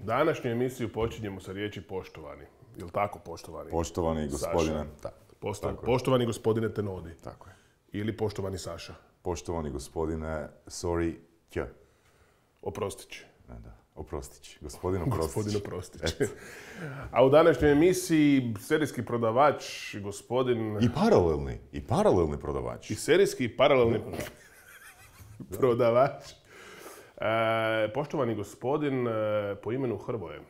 Današnju emisiju počinjemo sa riječi poštovani. Jel' tako, poštovani? Poštovani gospodine. Poštovani gospodine Tenodi. Tako je. Ili poštovani Saša. Poštovani gospodine, sorry, Oprostić. Da, Oprostić. Gospodin Oprostić. Gospodin Oprostić. A u današnjoj emisiji serijski prodavač, gospodin... I paralelni prodavač. I serijski i paralelni prodavač. Poštovani gospodin po imenu Hrvoje.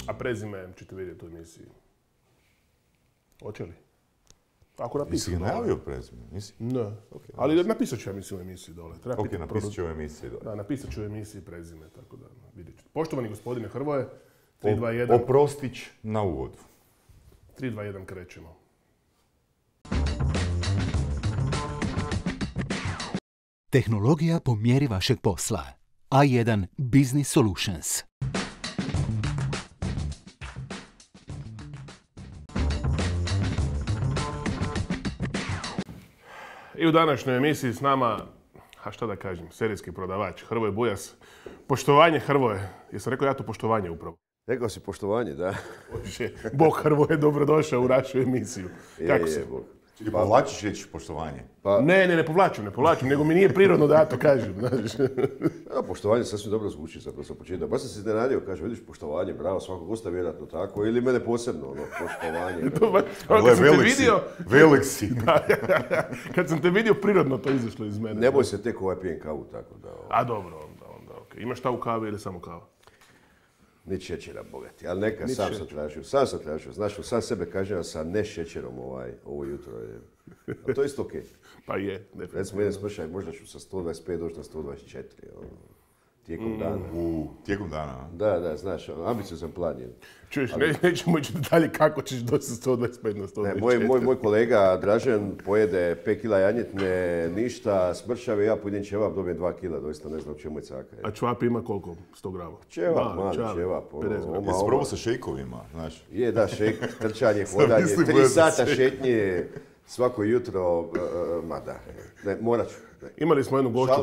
A prezime ćete vidjeti u emisiji. Hoće li? Ako napisam. Nisi ga najavio prezime? Nisi? Ne. Okay, ali napisat ću ja mislim u emisiji dole. Ok, napisat ću u emisiji dole. Da, napisat ću u emisiji prezime, tako da vidjet ćete. Poštovani gospodine Hrvoje, 3, 2, 1. Oprostić na uvodu. 3, 2, 1 krećemo. Tehnologija po mjeri vašeg posla. A1 Business Solutions. I u današnjoj emisiji s nama, a šta da kažem, serijski prodavač Hrvoje Bujas. Poštovanje Hrvoje. Jesam rekao ja to poštovanje upravo? Rekao si poštovanje, da. Bog Hrvoje, dobrodošao u našu emisiju. Kako si? Ti povlačiš riječ poštovanje? Ne povlačim, nego mi nije prirodno da ja to kažem. Ja, poštovanje sasvim dobro zvuči zapravo sa početka. Baš sam se iznenadio, kaže, vidiš poštovanje, bravo, svakog gosta vjerojatno tako, ili mene posebno, poštovanje. Kad sam te vidio... Velik si. Kad sam te vidio, prirodno to izašlo iz mene. Ne boj se, tek pijem kavu, tako da... A dobro, onda, okej. Imaš šta u kavi ili samo kava? Ni šećera, bogati, ali neka, sam sam tražio. Znaš, sam sebe kažem sa ne šećerom ovo jutro. A to je isto okej. Pa je, definitivno. Recimo, jedan smršaj, možda ću sa 125 doći na 124. Tijekom dana. Tijekom dana, a? Da, znaš, ambiciozan plan je. Čuješ, nećemo ići detalje kako ćeš doći sa 125 na 124. Moj kolega Dražen pojede 5 kila janjetne, ništa, smršave, ja pojedem ćevap, dobijem 2 kila, doista ne znam čemu je caka. A čevap ima koliko? 100 grama? Ćevap, mali ćevap. Jesi probao sa šejkovima, znaš? Je, da, šejk, trčanje, hodanje, 3 sata šetnje, svako jutro, morat ću. Imali smo jednu gošću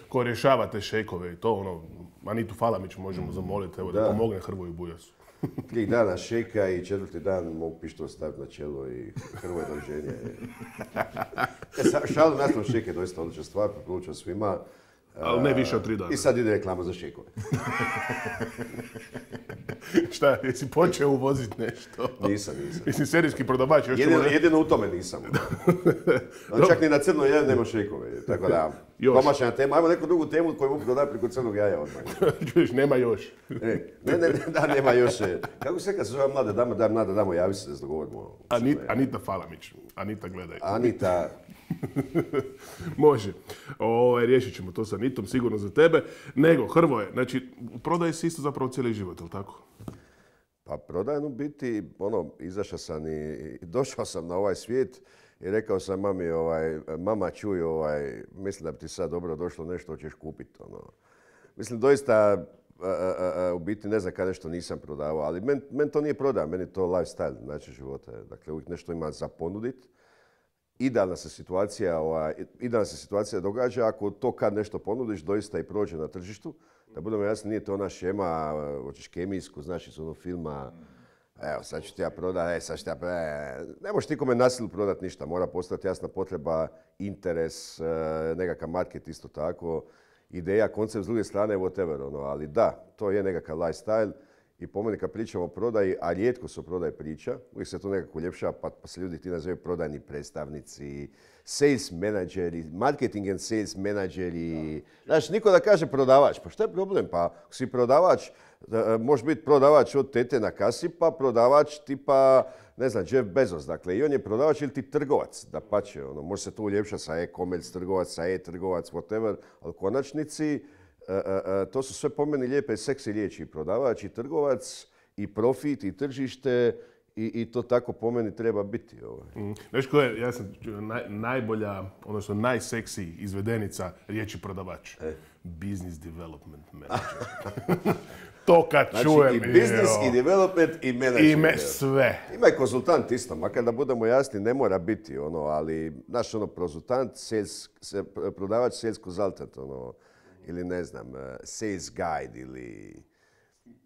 koja rješava te šejkove i to, Anitu Falamić možemo zamoliti, evo da pomogne Hrvoju Bujasu. 3 dana šejka i 4. dan mogu pištol staviti na čelo i Hrvoje doviđenje. Šalu nastavno šejke, doista odlična stvar, preporučujem svima. Ali ne više od 3 dana. I sad ide reklama za šejkove. Šta, jesi počeo uvoziti nešto? Nisam. Mislim, serijski prodavač. Jedino u tome nisam. Čak ni na crno jaje nema šejkove. Tako da, domaćna tema. Ajmo neku drugu temu koju mogu dodati preko crnog jaja odmah. Čuješ, nema još. Nema još. Kako se kad se zove mlada damo, javi se da se dogovorimo. Anita Falamić. Anita, gledaj. Anita... Može. Riješit ćemo to sa Anitom, sigurno za tebe. Nego, Hrvoje, znači, prodaje si isto zapravo cijeli život, je li tako? Pa prodajem u biti, izašao sam i došao sam na ovaj svijet i rekao sam mami, mama čuj, mislim da bi ti sad dobro došlo nešto, hoćeš kupiti. Mislim, doista, u biti ne znam kada nešto nisam prodavao, ali meni to nije prodaja, meni je to lifestyle, način života. Dakle, uvijek nešto ima za ponuditi. Idealna se situacija događa ako to kad nešto ponudiš doista i prođe na tržištu. Da budemo jasni, nije to ona šema, hoćeš kemijsku, znaš iz onog filma, evo sad ću ti ja prodati, sad ću ti ja prodati. Ne možeš nikome na silu prodati ništa, mora postati jasna potreba, interes, nekakav market isto tako, ideja, koncept s druge strane, whatever, ali da, to je nekakav lifestyle. I po meni kad pričamo o prodaji, a rijetko se o prodaji priča, uvijek se to nekako uljepšava, pa se ljudi ti nazivaju prodajni predstavnici, sales menadžeri, marketing and sales menadžeri. Znaš, niko da kaže prodavač, pa šta je problem? Pa ako si prodavač, može biti prodavač od tete na kasi, pa prodavač tipa, ne znam, Jeff Bezos. Dakle, i on je prodavač ili ti trgovac, da pače. Može se to uljepšati sa e-commerce trgovac, sa e-trgovac, whatever, ali u konačnici to su sve po meni lijepe seksi riječi. I prodavač, i trgovac, i profit, i tržište, i to tako po meni treba biti. Znaš ko je, ja sam najbolja, odnosno najseksiji izvedenica riječi prodavač. Business development manager. To kad čujem... Znači i business, i development, i management. I sve. Ima i konzultant isto, makar da budemo jasni, ne mora biti, ali naš konzultant, prodavač, sales consultant, ili ne znam, sales guide, ili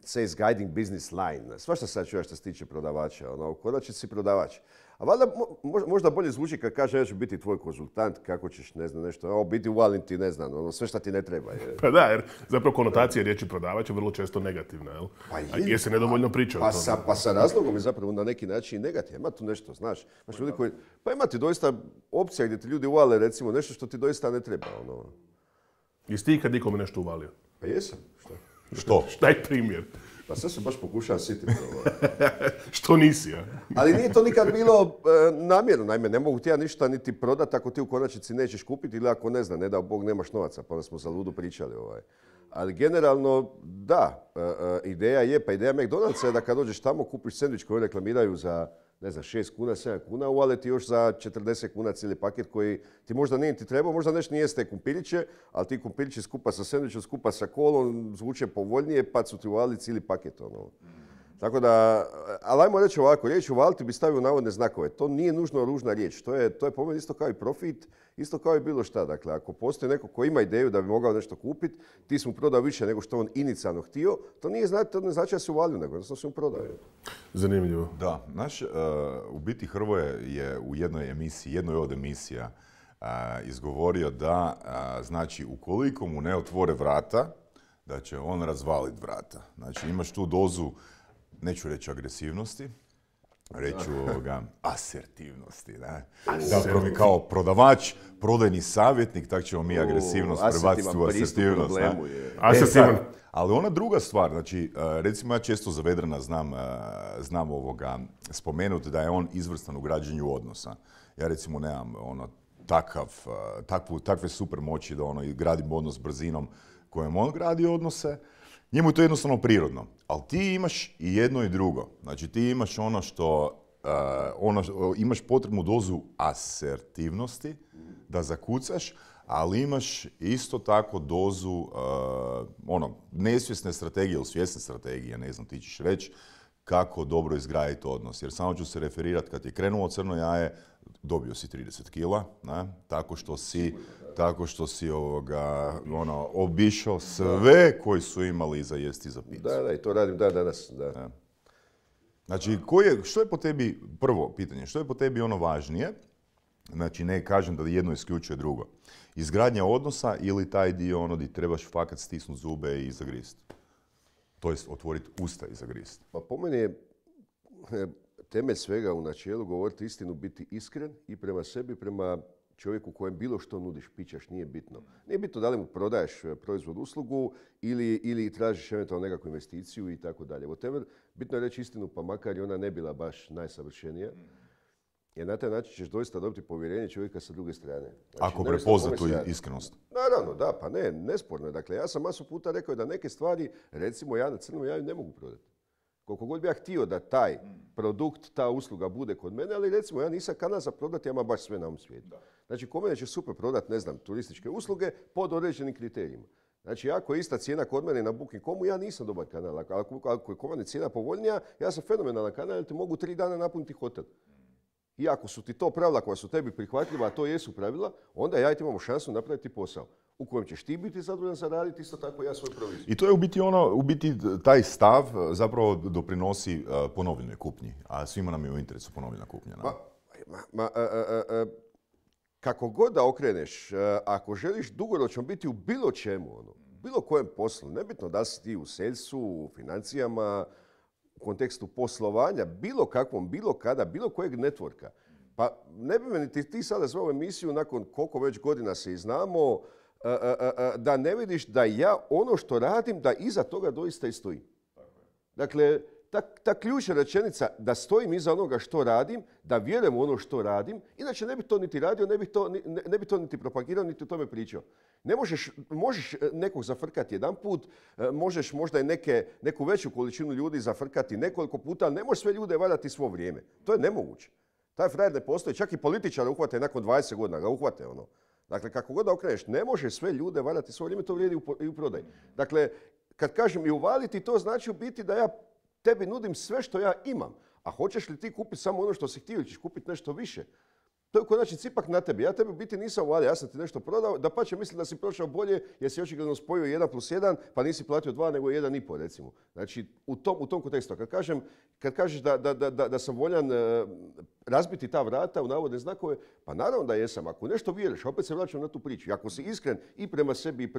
sales guiding business line. Svašta sad čuješ što se tiče prodavača. Ono, u konačnici si prodavač. A valjda možda bolje zvuči kad kaže ja ću biti tvoj konzultant, kako ćeš, ne znam, nešto, biti uvalim ti, ne znam, ono, sve šta ti ne treba. Pa da, jer zapravo konotacija riječi prodavač je vrlo često negativna, jel? Jer se nedovoljno priča o tome. Pa sa razlogom je zapravo na neki način negativno. Ima tu nešto, znaš. Pa ima ti doista opcija gdje ti ljudi uvale, recimo, nešto što ti doista ne treba. Ono. Jesi ti ikad nikome nešto uvalio? Pa jesam. Što? Daj primjer. Pa sad se baš pokušavam sititi. Što nisi, ja? Ali nije to nikad bilo namjerno. Naime, ne mogu ti ja ništa niti prodati ako ti u konačnici nećeš kupiti ili ako ne znam, ne dao Bog nemaš novaca, pa onda smo za ludu pričali. Ali generalno, da, ideja je, pa ideja McDonald'sa je da kad dođeš tamo kupiš sendvič koji reklamiraju za, ne znam, 6 kuna, 7 kuna, uvale ti još za 40 kuna cijeli paket koji ti možda nije ti trebao, možda nešto nije ste kumpiriće, ali ti kumpirići skupa sa sendvičom, skupa sa kolom, zvuče povoljnije, pa su ti uvali cijeli paket. Ono. Tako da, ali ajmo reći ovako, riječ uvaliti bi stavio navodne znakove. To nije nužno ružna riječ. To je po meni isto kao i profit, isto kao i bilo šta. Dakle, ako postoji neko ko ima ideju da bi mogao nešto kupiti, ti si mu prodao više nego što on inicijalno htio, to ne znači da si uvalio, nego jednostavno si mu prodao. Zanimljivo. Da, u biti Hrvoje je u jednoj od emisija izgovorio da, znači, ukoliko mu ne otvore vrata, da će on razvaliti vrata. Znači, imaš tu dozu, neću reći agresivnosti, reću asertivnosti. Ne? Zapravo mi kao prodavač, prodajni savjetnik, tako ćemo mi agresivnost prebaciti u asertivnost. Ali ona druga stvar, znači, recimo ja često za Vedrana znam spomenuti da je on izvrstan u građenju odnosa. Ja recimo nemam takve super moći da gradim odnos brzinom kojem on gradi odnose. Njemu je to jednostavno prirodno. Ali ti imaš i jedno i drugo. Znači ti imaš imaš potrebnu dozu asertivnosti da zakucaš, ali imaš isto tako dozu nesvjesne strategije ili svjesne strategije, ne znam, ti ćeš reći kako dobro izgraditi odnos. Jer samo ću se referirati, kad je krenulo crno jaje, dobio si 30 kila, ne? Tako što si obišao sve koji su imali za jesti i za picu. Da, i to radim danas. Da. Znači, što je po tebi, prvo pitanje, što je po tebi ono važnije? Znači, ne kažem da jedno isključuje drugo. Izgradnja odnosa ili taj dio gdje trebaš fakat stisnuti zube i zagrist? To jest otvoriti usta i zagrist. Pa po meni je temelj svega u načelu govoriti istinu, biti iskren i prema sebi, prema čovjeku kojem bilo što nudiš, pićaš, nije bitno. Nije bitno da li mu prodaješ proizvod, uslugu ili tražiš eventualno nekakvu investiciju i tako dalje. Bitno je reći istinu, pa makar i ona ne bila baš najsavršenija. Jer na taj način ćeš doista dobiti povjerenje čovjeka sa druge strane. Znači, ako prepozna tu iskrenost. Naravno, da, pa ne, nesporno je. Dakle, ja sam masu puta rekao da neke stvari, recimo ja na crnom jaju ne mogu prodati. Koliko god bi ja htio da taj produkt, ta usluga bude kod mene, ali recimo ja nisam kanal za prodati, ja imam baš sve na ovom svijetu. Znači, kod mene će super prodati, ne znam, turističke usluge pod određenim kriterijima. Znači, ako je ista cijena kod mene na Booking.comu, ja nisam dobar kanal. Ako je kod mene cijena povoljnija, ja sam fenomenalan kanal, jer ti mogu 3 dana napuniti hotel. I ako su ti to pravila koja su tebi prihvatljiva, a to jesu pravila, onda ja i ti imamo šansu napraviti posao u kojem ćeš ti biti zadovoljan zaraditi, isto tako ja svoju proviziju. I to je u biti taj stav zapravo doprinosi ponovljenoj kupnji, a svima nam je u interesu ponovljena kupnja. Kako god da okreneš, ako želiš dugoročno biti u bilo čemu, bilo kojem poslu, nebitno da si ti u salesu, u financijama, u kontekstu poslovanja, bilo kakvom, bilo kada, bilo kojeg networka. Pa ne bi me ti sada zvao emisiju nakon koliko već godina se i znamo, da ne vidiš da ja ono što radim, da iza toga doista i stojim. Dakle, ta ključna rečenica da stojim iza onoga što radim, da vjerujem u ono što radim, inače ne bi to niti radio, ne bi to niti propagirao, niti o tome pričao. Ne možeš nekog zafrkati jedan put, možeš možda i neku veću količinu ljudi zafrkati nekoliko puta, ali ne možeš sve ljude valjati svo vrijeme. To je nemoguće. Taj frajer ne postoji, čak i političar uhvate nakon 20 godina, ga uhvate ono. Dakle, kako god da okreneš, ne možeš sve ljude valjati svo vrijeme, to vrijedi i u prodaji. Dakle, kad kažem i uvaliti, to znači u biti da ja tebi nudim sve što ja imam. A hoćeš li ti kupiti samo ono što si htio ili ćeš kupiti nešto više? To je u konačnici ipak na tebi. Ja tebi u biti nisam uvalio, ja sam ti nešto prodao, dapače mislim da si prošao bolje jer si očigledno spojio 1+1 pa nisi platio 2 nego 1,5 recimo. Znači u tom kontekstu. Kad kažeš da sam voljan razbiti ta vrata u navodne znakove, pa naravno da jesam. Ako nešto vjeruješ, opet se vraćam na tu priču. I ako si iskren i prema sebi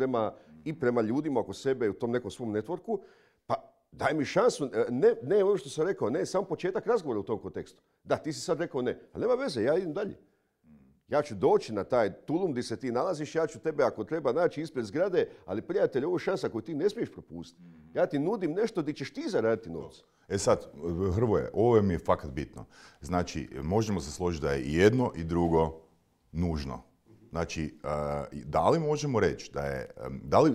i prema ljudima oko sebe u tom nekom svom networku, pa daj mi šansu, ne ono što sam rekao, ne, samo početak razgovora u tom kontekstu. Da, ti si sad rekao ne, ali nema veze, ja idem dalje. Ja ću doći na taj tulum gdje se ti nalaziš, ja ću tebe ako treba naći ispred zgrade, ali prijatelj, ovo je šansa koju ti ne smiješ propustiti. Ja ti nudim nešto gdje ćeš ti zaraditi novce. E sad, Hrvoje, ovo mi je fakat bitno. Znači, možemo se složiti da je i jedno i drugo nužno. Znači, da li možemo reći da je,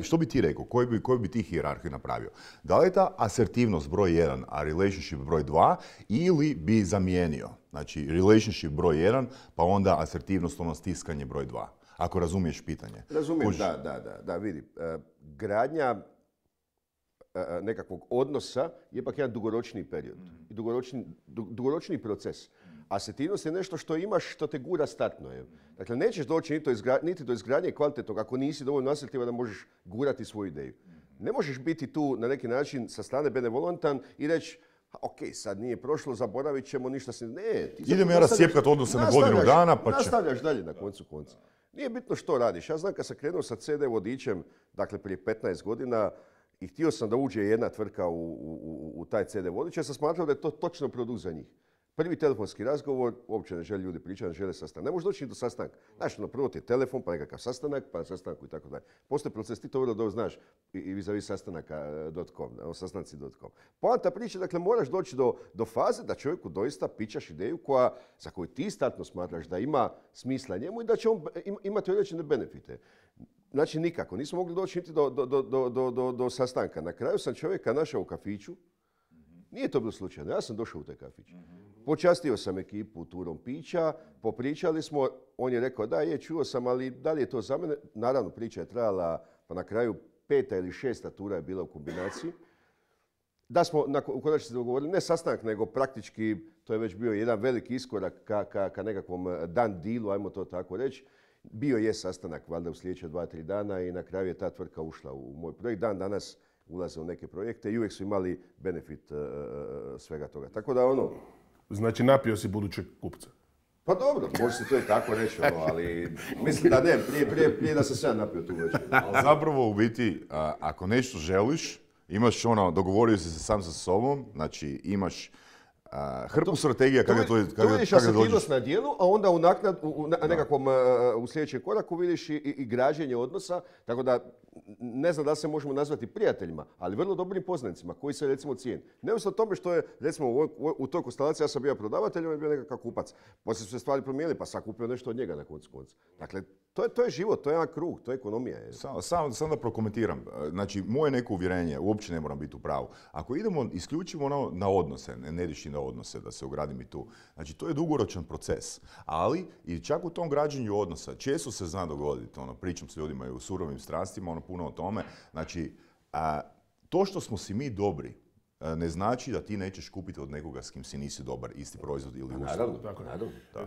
što bi ti rekao, koju bi ti hijerarhiju napravio? Da li je ta asertivnost broj 1, a relationship broj 2, ili bi zamijenio? Znači, relationship broj 1, pa onda asertivnost, ono stiskanje broj 2. Ako razumiješ pitanje. Razumijem, da, vidi. Gradnja nekakvog odnosa je ipak jedan dugoročni period. I dugoročni proces. Asertivnost je nešto što imaš, što te gura startno. Dakle, nećeš doći niti do izgradnje kvalitetnog ako nisi dovoljno asertivan da možeš gurati svoju ideju. Ne možeš biti tu na neki način sa strane benevolentan i reći ok, sad nije prošlo, zaboravit ćemo, ništa se... Ne, idem ja rascijepkat odnose na godinu dana, pa će... Nastavljaš dalje na koncu konca. Nije bitno što radiš. Ja znam kad sam krenuo sa CD vodičem, dakle prije 15 godina, i htio sam da uđe jedna tvrtka u taj CD vodič, ja sam smatrao da je to točno produkt za njih. Prvi telefonski razgovor, uopće ne žele ljudi pričati, ne žele sastanak. Ne možeš doći ni do sastanka. Znaš, prvo ti je telefon, pa nekakav sastanak, pa sastanku i tako dalje. Postoji proces, ti to vrlo dobro znaš i vis-a-vis sastanaka.com, sastanci.com. Poanta priče, dakle, moraš doći do faze da čovjeku doista pičaš ideju za koju ti startno smatraš da ima smisla njemu i da će on imati određene benefite. Znači, nikako. Nismo mogli doći niti do sastanka. Na kraju sam čovjeka našao u kafiću. Nije to bilo slučajno. Ja sam došao u taj kafić. Počastio sam ekipu turom pića, popričali smo, on je rekao da čuo sam, ali da li je to za mene? Naravno, priča je trajala, pa na kraju 5. ili 6. tura je bila u kombinaciji. Da smo u konačnici dogovorili, ne sastanak, nego praktički, to je već bio jedan veliki iskorak ka nekakvom dan dealu, ajmo to tako reći. Bio je sastanak, valjda u sljedeće 2-3 dana i na kraju je ta tvrtka ušla u moj projekt. Dan danas ulaze u neke projekte i uvijek su imali benefit svega toga. Tako da Znači napio si budućeg kupca. Pa dobro, može se to i tako reći, ali mislim da ne, prije da sam sam napio tu večer. Ali zapravo u biti, ako nešto želiš, imaš dogovorio si se sam sa sobom, znači imaš hrpu strategija kako to vidiš asertivnost na dijelu, a onda u sljedećem koraku vidiš i građenje odnosa, tako da ne znam da se možemo nazvati prijateljima, ali vrlo dobrim poznanicima koji se recimo cijeni. Neovisno o tome što je recimo u toj konstelaciji ja sam bio prodavatelj, on je bio nekakav kupac. Poslije su se stvari promijenili pa sam kupio nešto od njega na koncu konca. Dakle, to je život, to je jedan krug, to je ekonomija. Samo da prokomentiram. Znači, moje neko uvjerenje, uopće ne moram biti u pravu. Ako idemo isključivo na odnose, ne ideš i na odnose, da se ogradim i tu. Znači, to je dugoročan proces. Ali, i čak u tom građenju odnosa, često se zna dogoditi, pričam s ljudima i u surovim strastima, puno o tome. Znači, to što smo si mi dobri, ne znači da ti nećeš kupiti od nekoga s kim si nisi dobar, isti proizvod ili uslugu.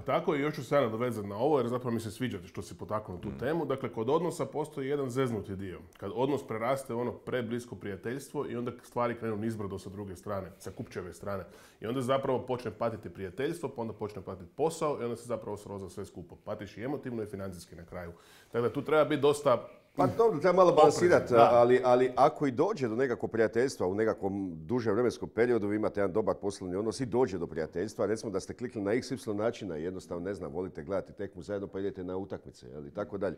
Tako i još ću se nadovezati na ovo, jer zapravo mi se sviđa što si potaknuo tu temu. Dakle, kod odnosa postoji jedan zeznuti dio. Kad odnos preraste u preblisko prijateljstvo i onda stvari krenu nizbrdo sa druge strane, sa kupčeve strane. I onda zapravo počne patiti prijateljstvo, pa onda počne patiti posao i onda se zapravo sroza sve skupo. Patiš i emotivno i financijski na kraju. Dakle, tu treba biti dosta... Pa dobro, treba malo balansirati, ali ako i dođe do nekakvog prijateljstva u nekakvom dužem vremenskom periodu, vi imate jedan dobar poslovni odnos i dođe do prijateljstva, recimo da ste klikli na XY načina i jednostavno, ne znam, volite gledati tekmu zajedno pa idete na utakmice i tako dalje.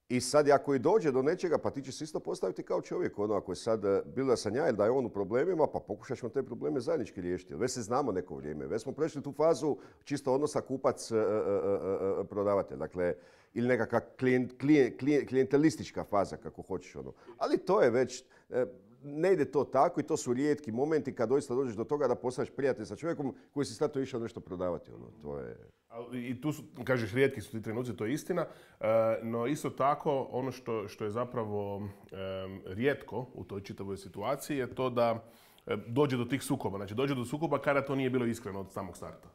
I sad, ako i dođe do nečega, pa ti će se isto postaviti kao čovjek. Ako je sad, bilo da sam ja ili da je on u problemima, pa pokušat ćemo te probleme zajednički riješiti. Već se znamo neko vrijeme. Već smo prešli tu fazu čisto odnosa kupac-prodavatelj. Dakle, ili nekakva klijentelistička faza, kako hoćeš. Ali to je već... Ne ide to tako i to su rijetki momenti kad doista dođeš do toga da postaneš prijatelj sa čovjekom koji si stato išao nešto prodavati. To je... I tu su, kažeš, rijetki su ti trenuci, to je istina, no isto tako ono što je zapravo rijetko u toj čitavoj situaciji je to da dođe do tih sukoba. Znači dođe do sukoba kada to nije bilo iskreno od samog starta.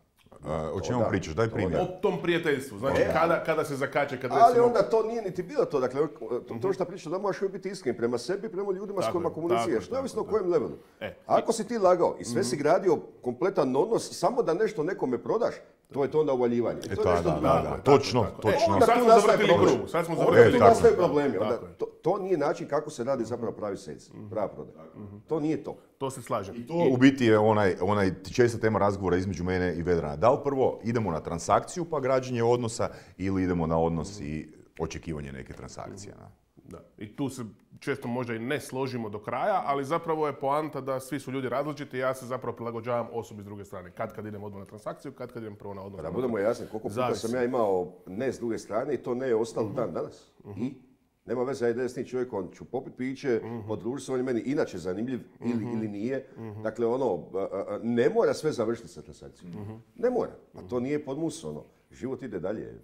O čemu pričaš? Daj primjer. O tom prijateljstvu. Znači, kada se zakače, kad Ali onda to nije niti bilo to. Dakle, to što pričaš, da možeš uvijek biti iskren prema sebi, prema ljudima s kojima komuniciraš. Neovisno o kojem levelu. Ako si ti lagao i sve si gradio kompletan odnos samo da nešto nekome prodaš, to je to onda uvaljivanje. To je nešto drugo. Točno. Onda Sad tu smo nastaje zavrtili problem. krug. Sad smo Onda zavrtili tu krug. nastaju problemi. Onda to nije način kako se radi zapravo pravi sales, prava prodaja. To nije to. To se slažem. I to u biti je onaj česta tema razgovora između mene i Vedrana. Da li prvo idemo na transakciju pa građenje odnosa ili idemo na odnos i očekivanje neke transakcije? Da. I tu se često možda i ne složimo do kraja, ali zapravo je poanta da svi su ljudi različiti i ja se zapravo prilagođavam osobi s druge strane. Kad idem odmah na transakciju, kad idem prvo na odnos. Da budemo jasni, koliko puta sam ja imao ne s druge strane i to ne je ostalo dan danas. I nema veze, ja idem s tim čovjekom, ću popit piće, podružiti se, on je meni inače zanimljiv ili nije. Dakle, ne mora sve završiti sa transakcijom. Ne mora, a to nije podmus, život ide dalje.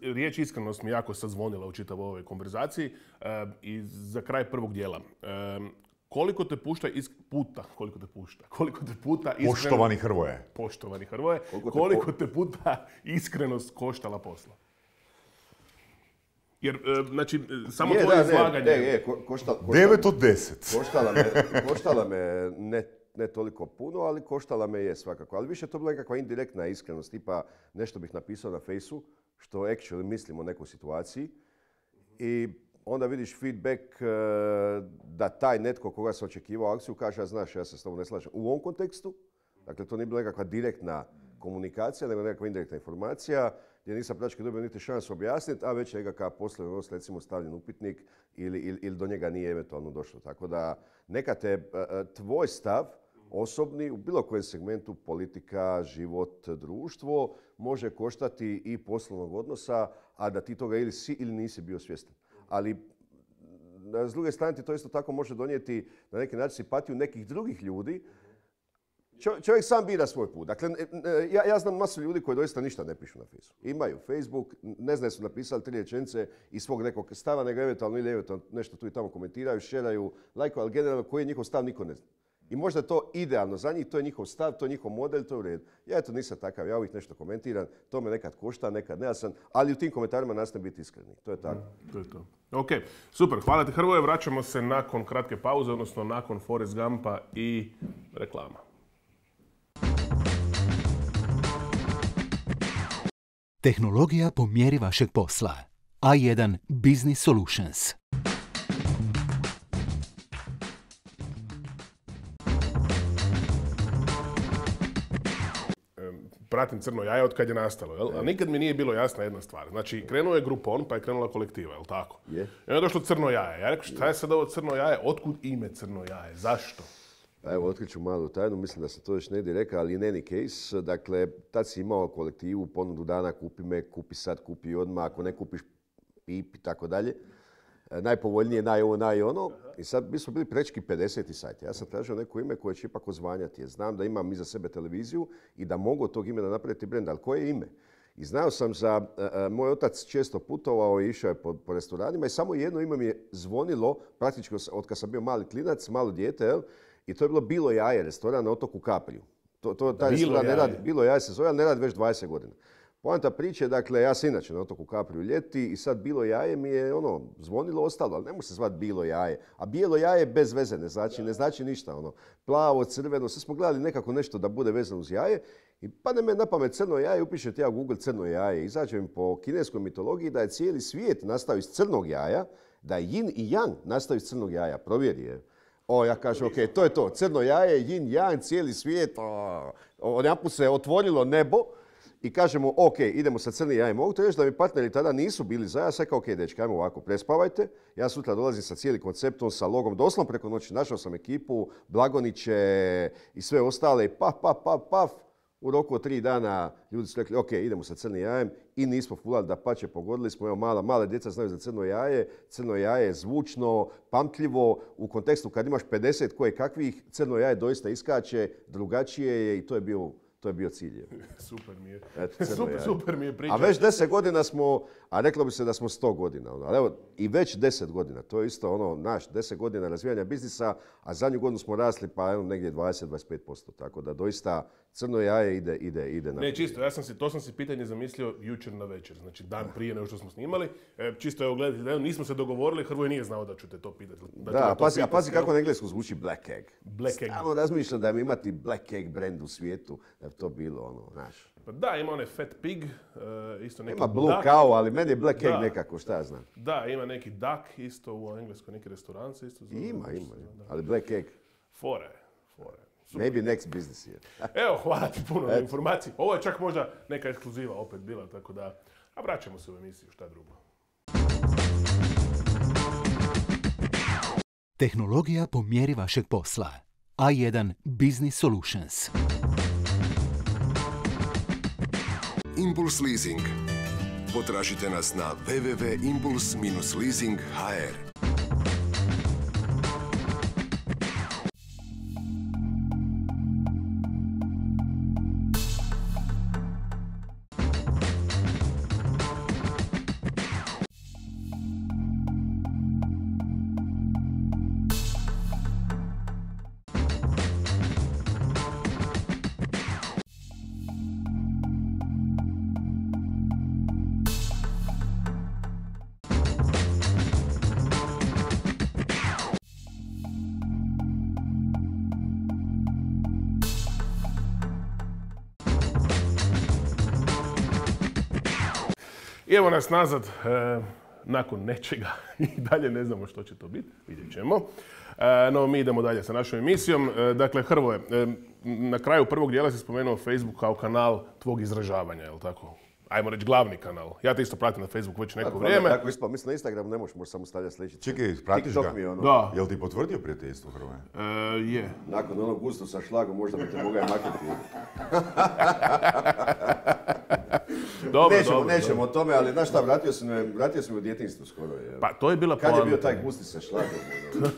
Riječ iskrenost mi jako sazvonila u čitavoj ovoj konverzaciji i za kraj prvog dijela. Koliko te puta iskreno... Poštovani Hrvoje, koliko te puta iskrenost koštala posla? Jer, znači, samo tvoje izlaganje... 9 od 10. Koštala me ne toliko puno, ali koštala me je svakako. Ali više to bila nekakva indirektna iskrenost, tipa nešto bih napisao na Fejsu, što actually mislim o nekoj situaciji. I onda vidiš feedback da taj netko koga se očekivao akciju kaže, a znaš, ja se s tobom ne slažem. U ovom kontekstu, dakle to nije bila nekakva direktna komunikacija, nego nekakva indirektna informacija, gdje nisam praktički dobio niti šansu objasniti, a već je nekakav poslovni odnos recimo stavljen upitnik ili do njega nije eventualno došlo. Tako da neka te tvoj stav osobni u bilo kojem segmentu politika, život, društvo može koštati i poslovnog odnosa, a da ti toga ili si ili nisi bio svjestan. Ali s druge strane ti to isto tako može donijeti na neki način simpatiju nekih drugih ljudi. Čovjek sam bira svoj put. Dakle, ja znam masu ljudi koji doista ništa ne pišu na Facebooku. Imaju Facebook, ne znam su napisali 3 rečenice iz svog nekog stava, nego eventualno ili eventualno nešto tu i tamo komentiraju, šeraju, lajkuju, ali generalno koji je njihov stav niko ne zna. I možda je to idealno za njih, to je njihov stav, to je njihov model, to je u redu. Ja eto nisam takav, ja uvijek nešto komentiram, to me nekad košta, nekad ne, ali u tim komentarima nastavim biti iskreni. To je tako. To je to. Ok, super, hvala ti Hrvoje, vraćamo se nakon kratke pauze, odnosno nakon Forrest Gumpa i reklama. Tehnologija po mjeri vašeg posla. A1 Business Solutions. Pratim Crno jaje od kad je nastalo, jel? A nikad mi nije bilo jasna jedna stvar. Znači, krenuo je Groupon, pa je krenula kolektiva, jel tako? Je. I onda je došlo Crno jaje. Ja rekao, šta je sad ovo Crno jaje? Otkud ime Crno jaje? Zašto? Pa evo, otkriću malu tajnu, mislim da sam to još negdje rekao, ali in any case, dakle, tad si imao kolektivu, ponudu dana, kupi me, kupi sad, kupi odmah, ako ne kupiš, pip i tako dalje. Najpovoljnije, naj ono. I sad mi smo bili prečki 50. sajt. Ja sam tražio neko ime koje će ipak ozvanjati. Jer znam da imam iza sebe televiziju i da mogu od tog imena napraviti brend, ali koje je ime? I znao sam moj otac često putovao i išao je po restoranima i samo jedno ime mi je zvonilo, praktički od kad sam bio mali klinac, malo dijete, jel? I to je bilo Bilo jaje, restoran na otoku Kapriju. Taj restoran ne radi, Bilo jaje se zove, ali ne radi već 20 godina. Poanta priče, dakle, ja sam inače na otoku Kapriju ljeti i sad Bilo jaje mi je zvonilo ostalo, ali ne može se zvati Bilo jaje. A bijelo jaje bez veze, ne znači ništa. Plavo, crveno, sve smo gledali nekako nešto da bude vezano uz jaje. I padne me na pamet crno jaje, upišete ja u Google crno jaje. Izađe mi po kineskoj mitologiji da je cijeli svijet nastao iz crnog jaja, da je yin i yang nastao iz crnog jaja. Provjeri je. Ja kažem, ok, to je to. Crno jaje, yin, yang, cijeli svijet. Odjedanput se otvorilo nebo i kažemo, ok, idemo sa crnim jajem. Mogu to reći da mi partneri tada nisu bili za. Ja sam rekao, ok, dečki, ajmo ovako, prespavajte. Ja sutra dolazim sa cijelim konceptom, sa logom, doslovno preko noći. Našao sam ekipu, Blagoniće i sve ostale. Paf. U roku od 3 dana ljudi su rekli, ok, idemo sa crnim jajem i nismo fulali, dapače, pogodili smo. Evo, male djeca znaju za crno jaje. Crno jaje je zvučno, pamtljivo. U kontekstu kad imaš 50 koje kakvih, crno jaje doista iskače, drugačije je i to To je bio cilj. Super mi je. Eto, super mi je priča. A već 10 godina smo, a reklo bi se da smo 100 godina. Ali evo, i već 10 godina. To je isto naš 10 godina razvijanja biznisa, a zadnju godinu smo rasli pa evo negdje 20-25%. Tako da doista crno jaje ide na... Ne, čisto, to sam si pitanje zamislio jučer na večer, znači dan prije nego što smo snimali. Čisto evo gledajte, da nismo se dogovorili, Hrvoje nije znao da ću te to pitati. Da, pazi kako na englesku zvuči Black Egg. Black Egg. Stalno razmišljam da bi imati Black Egg brand u svijetu, da bi to bilo znaš. Pa da, ima onaj Fat Pig, isto neki Ima Blue Cow, ali meni je Black Egg nekako, šta ja znam. Da, ima neki Duck isto u Engleskoj, neki restoran se isto zove. Ima, ali Black Egg. Fore. Maybe next business year. Evo, hvala ti puno na informaciji. Ovo je čak možda neka ekskluziva opet bila, tako da... A vraćamo se u emisiju, šta drugo. Tehnologija po mjeri vašeg posla. A1 Business Solutions. Impuls Leasing. Potražite nas na www.impuls-leasing.hr. I evo nas nazad nakon nečega i dalje ne znamo što će to biti, vidjet ćemo. No, mi idemo dalje sa našom emisijom. Dakle, Hrvoje, na kraju prvog dijela si spomenuo Facebook kao kanal tvog izražavanja, je li tako? Ajmo reći glavni kanal. Ja te isto pratim na Facebooku već neko vrijeme. Tako ispao, mislim na Instagramu ne možeš samo stavljati sličice. Čekaj, pratiš ga? Da. Jel ti potvrdio prijateljstvo, Hrvoje? Je. Nakon onog gusto sa šlagom možda bi te mogao maknuti. Nećemo o tome, ali znaš šta, vratio sam u djetinjstvu skoro. Jel? Pa to je bila poanta. Kad je bio taj gusti sa šlagom?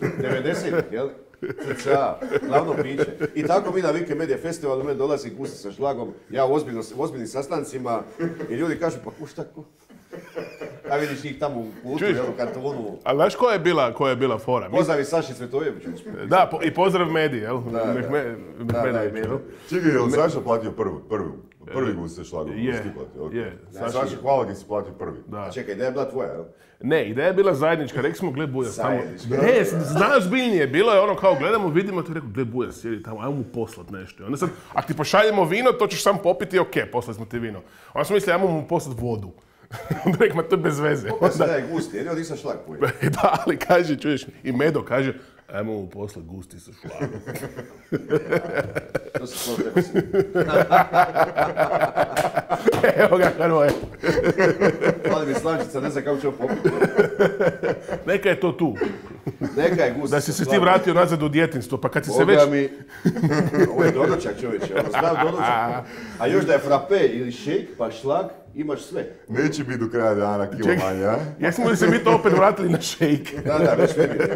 90-ih, jel? Crča, glavno piće. I tako mi na Wikimedia festivalu me dolazi gusti sa šlagom, ja u ozbiljnim sastancima i ljudi kažu pa kušta ko? A vidiš ih tamo u kultu, u kantonu. Ali znaš koja je bila fora? Pozdravi Saši Cvetojeviću. Da, i pozdrav mediji, jel? Čekaj, je li Saša platio prvi gust sa šlagom? Je. Saša, hvala ti si platio prvi. Čekaj, ideja je bila tvoja, jel? Ne, ideja je bila zajednička, rekli smo gle Bujas tamo. Ne, znaš biljnije, bilo je ono kao gledamo, vidimo, to je rekao gle Bujas sjedi tamo, ajmo mu poslat nešto. Onda sad, ako ti pošaljemo vino, to ćeš sam popiti, ok, poslali smo ti vino. Onda smo mislili, ajmo mu poslat vodu. Onda rekao, to je bez veze. Ovo se daje gusti, jedino nisam šlag pojel. Da, ali kaže, čuješ, i Medo kaže, ajmo mu poslat gusti sa šlagom. To se to treba si. Evo ga, Hrvoje. Hvala mi slančica, ne znam kako ćemo popiti. Neka je to tu. Neka je gusti. Da si se ti vratio nazad u djetinjstvo, pa kad si se već... Ovo je doručak, čovječe, znam doručak. A još da je frappe ili šejk, pa šlag, imaš sve. Neće biti do kraja dana kilo manje, a? Jesmo li se mi to opet vratili na šejk? Da,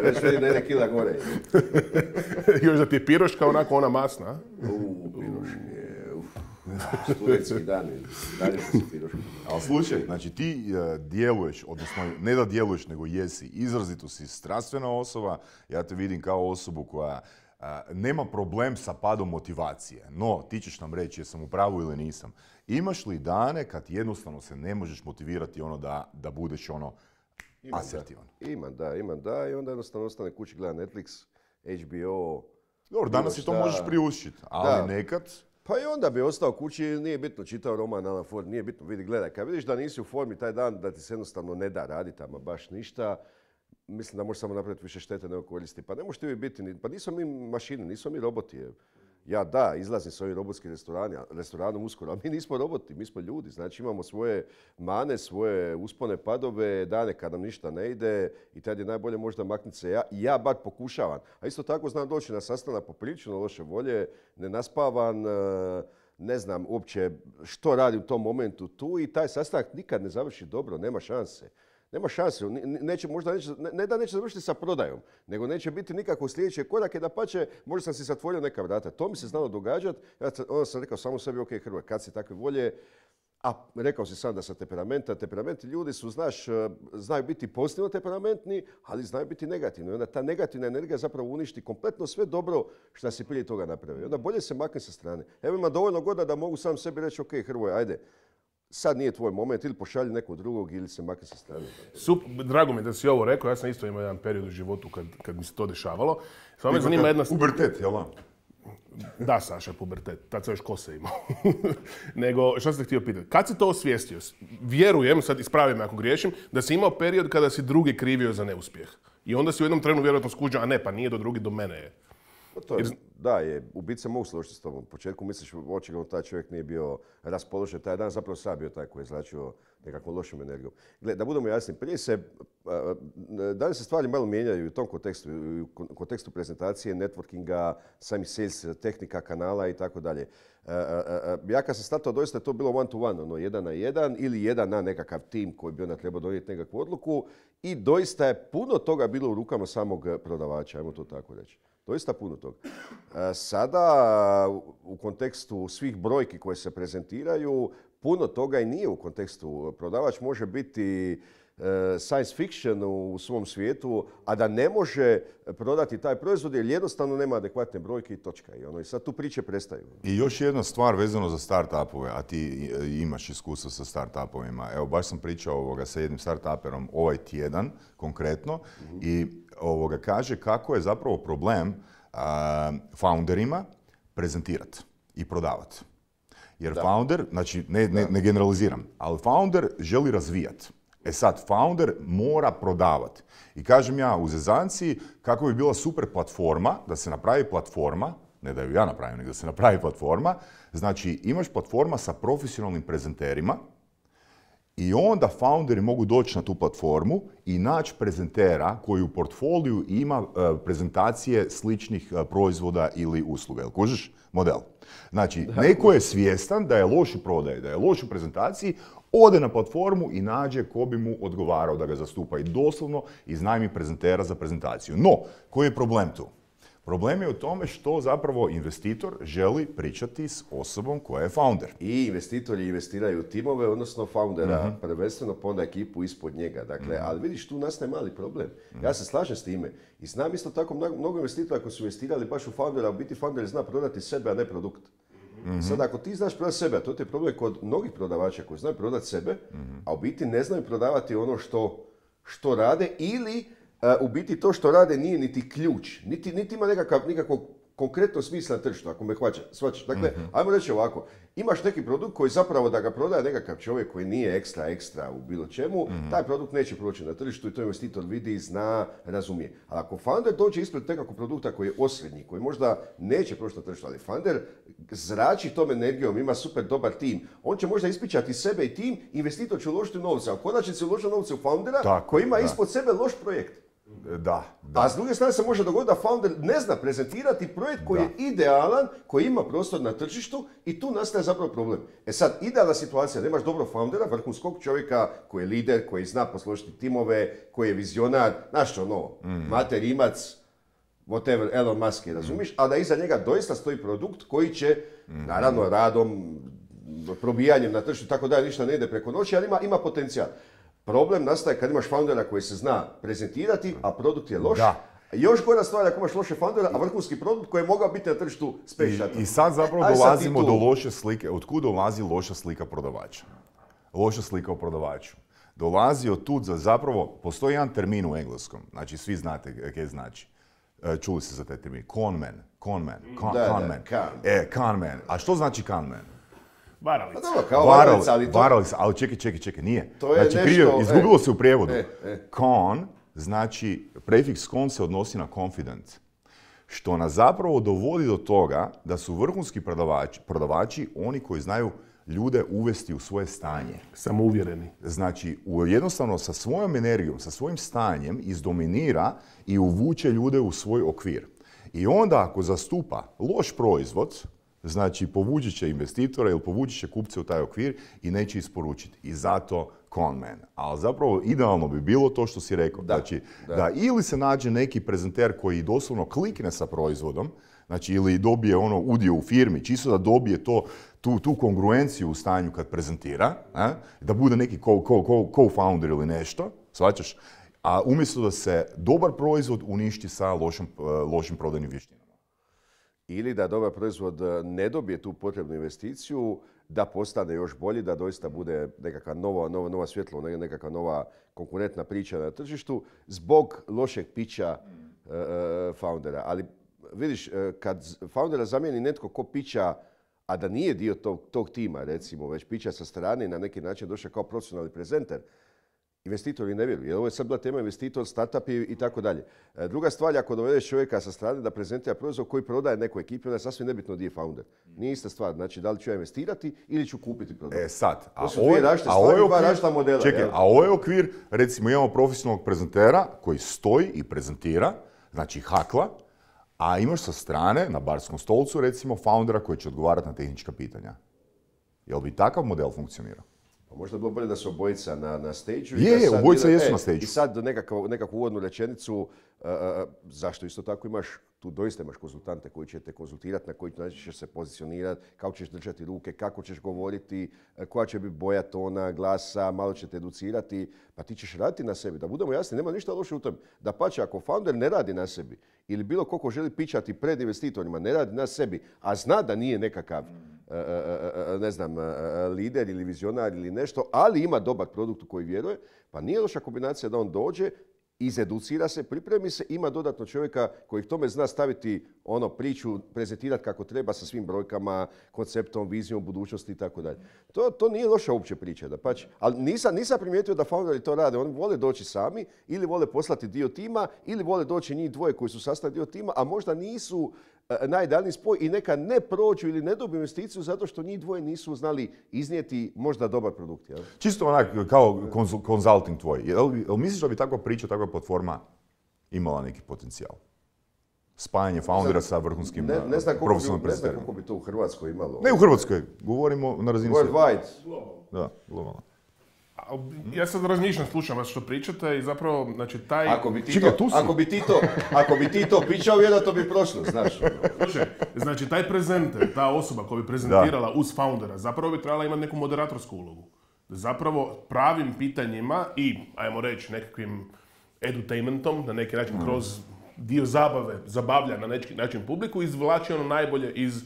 već vidim na 1 kila gore. Još da ti je piroška onako ona masna, a? Piroške, studentski dani, dalje su piroške. Ali slušaj, znači ti djeluješ, odnosno ne da djeluješ, nego jesi, izrazito si strastvena osoba, ja te vidim kao osobu koja nema problem sa padom motivacije, no ti ćeš nam reći jesam u pravu ili nisam. Imaš li dane kad jednostavno se ne možeš motivirati da budeš asertivan? Imam da i onda jednostavno ostane kući gleda Netflix, HBO. Dobro, danas si to možeš priuštiti, ali nekad... Pa i onda bi ostao kući, nije bitno čitao roman Alan Ford, nije bitno, vidi, gledaj, kad vidiš da nisi u formi taj dan, da ti se jednostavno ne da raditi, ama baš ništa, mislim da možeš samo napraviti više štete nego koristi. Pa ne možeš ti uvijek biti, pa nismo mi mašine, nismo mi roboti. Ja da, izlazim s ovim robotskim restoranom uskoro, a mi nismo roboti, mi smo ljudi. Znači imamo svoje mane, svoje uspone, padove, dane kad nam ništa ne ide i tad je najbolje možda maknuti se. Ja bar pokušavam. A isto tako znam doći na sastanak poprilično loše volje, nenaspavan, ne znam uopće što radi u tom momentu tu i taj sastanak nikad ne završi dobro, nema šanse. Nema šanse. Ne da neće završiti sa prodajom, nego neće biti nikakvog sljedećeg koraka, da pače, možda sam si zatvorio neka vrata. To mi se znalo događati. Onda sam rekao samo sebi, ok, Hrvoje, kad si takve volje, a rekao si sam da sam temperamenti ljudi su, znaju biti pozitivno temperamentni, ali znaju biti negativni. Onda ta negativna energija zapravo uništi kompletno sve dobro što si prije toga napravio. Onda bolje se makne sa strane. Evo ima dovoljno godina da mogu sam sebi reći, ok, Hrvoje, ajde, sad nije tvoj moment, ili pošalji nekog drugog ili se makne sa strane. Drago mi je da si ovo rekao, ja sam isto imao jedan period u životu kad mi se to dešavalo. Samo me zanima jedna... Pubertet, jel' Da, Saša, pubertet. Tad sam još kose imao. Nego, što sam te htio pitati? Kad si to osvijestio? Vjerujem, sad ispravi me ako griješim, da si imao period kada si drugi krivio za neuspjeh. I onda si u jednom trenu vjerojatno skuđao, a ne, pa nije do drugi, do mene je. U biti se mogu složiti s tobom. U početku misliš, očigledno taj čovjek nije bio raspoložen taj dan, zapravo sam bio taj koji je zračio nekakvom lošom energijom. Gle, da budemo jasni, danas se stvari malo mijenjaju u tom kontekstu, u kontekstu prezentacije, networkinga, samih sales, tehnika, kanala i tako dalje. Ja kad sam startao, doista je to bilo one to one, ono 1 na 1 ili 1 na nekakav tim koji bi onda trebao donijeti nekakvu odluku i doista je puno toga bilo u rukama samog prodavača, ajmo to tako reći. Doista puno toga. Sada, u kontekstu svih brojki koje se prezentiraju, puno toga i nije u kontekstu. Prodavač može biti science fiction u svom svijetu, a da ne može prodati taj proizvod jer jednostavno nema adekvatne brojke i točka. I sad tu priče prestaju. I još jedna stvar vezano za start-upove, a ti imaš iskustvo sa start-upovima. Evo, baš sam pričao sa jednim start-uperom ovaj tjedan konkretno i kaže kako je zapravo problem founderima prezentirati i prodavati. Jer founder, znači ne generaliziram, ali founder želi razvijati. E sad, founder mora prodavati. I kažem ja u zezanci kako bi bila super platforma, da se napravi platforma, ne da ju ja napravim, nego da se napravi platforma, znači imaš platforma sa profesionalnim prezenterima i onda founderi mogu doći na tu platformu i naći prezentera koji u portfoliju ima prezentacije sličnih proizvoda ili usluga. Jel kužiš model? Znači, neko je svjestan da je loš u prodaji, da je loš u prezentaciji, ode na platformu i nađe ko bi mu odgovarao da ga zastupa i doslovno iznajmi prezentera za prezentaciju. No, koji je problem tu? Problem je u tome što zapravo investitor želi pričati s osobom koja je founder. I investitori investiraju u timove, odnosno foundera, prvenstveno pa onda ekipu ispod njega. Dakle, ali vidiš, tu nastaje mali problem. Ja se slažem s time. I znam isto tako mnogo investitora koji su investirali baš u foundera, a u biti founder zna prodati sebe, a ne produkt. Sad, ako ti znaš prodati sebe, a to je problem kod mnogih prodavača koji znaju prodati sebe, a u biti ne znaju prodavati ono što rade ili u biti to što rade nije niti ključ, niti ima nikakvog konkretnog smisla na tržištu, ako me shvaćaš. Dakle, ajmo reći ovako, imaš neki produkt koji zapravo da ga prodaje nekakav čovjek koji nije ekstra u bilo čemu, taj produkt neće proći na tržištu i to investitor vidi, zna, razumije. Ali ako founder dođe ispred nekakvog produkta koji je osrednji, koji možda neće proći na tržištu, ali founder zrači tom energijom, ima super dobar tim, on će možda ispričati sebe i tim, investitor će uložiti novce, a u konačnici uloži novce u foundera koji ima ispod sebe loš projekt. Da. A s druge strane se može dogoditi da founder ne zna prezentirati projekt koji je idealan, koji ima prostor na tržištu i tu nastaje zapravo problem. E sad, idealna situacija, da imaš dobro foundera, vrhunskog čovjeka koji je lider, koji zna posložiti timove, koji je vizionar, znaš Mate Rimac, whatever, Elon Musk je, razumiš? A da iza njega doista stoji produkt koji će, naravno, radom, probijanjem na tržištu, tako da ništa ne ide preko noći, ali ima potencijal. Problem nastaje kad imaš foundera koji se zna prezentirati, a produkt je loš. Još gora stvar ako imaš loše foundera, a vrhunski produkt koji je mogao biti na tržištu space. I sad zapravo dolazimo do loše slike. Otkud dolazi loša slika prodavača? Loša slika o prodavaču. Dolazi od tud zapravo, postoji jedan termin u engleskom, znači svi znate kaj znači. Čuli ste za taj termin. Con man. Con. A što znači con man? Varalica. Varalica, ali čekaj, nije. To je znači, nešto... izgubilo se u prijevodu. Con, znači, prefiks con se odnosi na confident. Što nas zapravo dovodi do toga da su vrhunski prodavači oni koji znaju ljude uvesti u svoje stanje. Samouvjereni. Znači, jednostavno sa svojom energijom, sa svojim stanjem izdominira i uvuče ljude u svoj okvir. I onda ako zastupa loš proizvod, znači povući će investitora ili povući će kupce u taj okvir i neće isporučiti. I zato con man. Ali zapravo idealno bi bilo to što si rekao. Znači, da ili se nađe neki prezenter koji doslovno klikne sa proizvodom, znači ili dobije udio u firmi, čisto da dobije tu kongruenciju u stanju kad prezentira, da bude neki co-founder ili nešto, shvaćaš? A umjesto da se dobar proizvod uništi sa lošim prodajnim vještinama. Ili da dobar proizvod ne dobije tu potrebnu investiciju, da postane još bolji, da doista bude nekakva nova svjetlo, nekakva nova konkurentna priča na tržištu zbog lošeg pića foundera. Ali vidiš, kad foundera zamijeni netko ko pića, a da nije dio tog tima, recimo, već pića sa strane i na neki način došao kao profesionalni prezenter, investitori ne vjeruju, jer ovo je sad bila tema investitor, startup i tako dalje. Druga stvar, ako dovedeš čovjeka sa strane da prezentira proizvod koji prodaje nekoj ekipi, onda je sasvim nebitno gdje je founder. Nije ista stvar, znači da li ću ja investirati ili ću kupiti produkt. Sad, to su dvije različite stvari, dva različita modela. Čekaj, a ovo je okvir, recimo imamo profesionalnog prezentera koji stoji i prezentira, znači hakla, a imaš sa strane, na barskom stolcu, recimo foundera koji će odgovarati na tehnička pitanja. Jel bi takav model funkcionirao? Pa možda bi bilo bolje da su obojica na stage-u. Obojica jesu na stage-u. I sad nekakvu uvodnu rečenicu, zašto isto tako tu doista imaš konzultante koji će te konzultirati, na koji način ćeš se pozicionirati, kako ćeš držati ruke, kako ćeš govoriti, koja će biti boja tona, glasa, malo će te educirati, pa ti ćeš raditi na sebi. Da budemo jasni, nema ništa loše u tome. Dapače, ako founder ne radi na sebi ili bilo ko želi pičati pred investitorima, ne radi na sebi, a zna da nije nekakav lider ili vizionar ili nešto, ali ima dobar produkt u koji vjeruje, pa nije loša kombinacija da on dođe, izeducira se, pripremi se, ima dodatno čovjeka koji k tome zna staviti priču, prezentirati kako treba sa svim brojkama, konceptom, vizijom, budućnosti i tako dalje. To nije loša uopće priča, dapače. Ali nisam primijetio da founderi to rade. Oni vole doći sami ili vole poslati dio tima ili vole doći njih dvoje koji su sastavni dio tima, a možda nisu najidealniji spoj i neka ne prođu ili ne dobiju investiciju zato što njih dvoje nisu znali iznijeti možda dobar produkt. Jel? Čisto onak kao konzulting tvoj. Jel misliš da bi takva priča, takva platforma imala neki potencijal? Spajanje foundera sa vrhunskim profesionalnim prezenterima. Ne znam koliko bi to u Hrvatskoj imalo. Ne u Hrvatskoj, govorimo na razini svijeta. Worldwide. Da, globalno. Ja sad razmišljam, slušam vas što pričate i zapravo, znači taj... Ako bi ti to pičao, vjerojatno bi prošlo, znaš. Slušaj, znači taj prezenter, ta osoba koja bi prezentirala uz foundera, zapravo bi trebala imati neku moderatorsku ulogu. Zapravo pravim pitanjima i, ajmo reći, nekakvim edutainmentom, na neki način kroz dio zabave, zabavlja na neki način publiku, izvlači ono najbolje iz...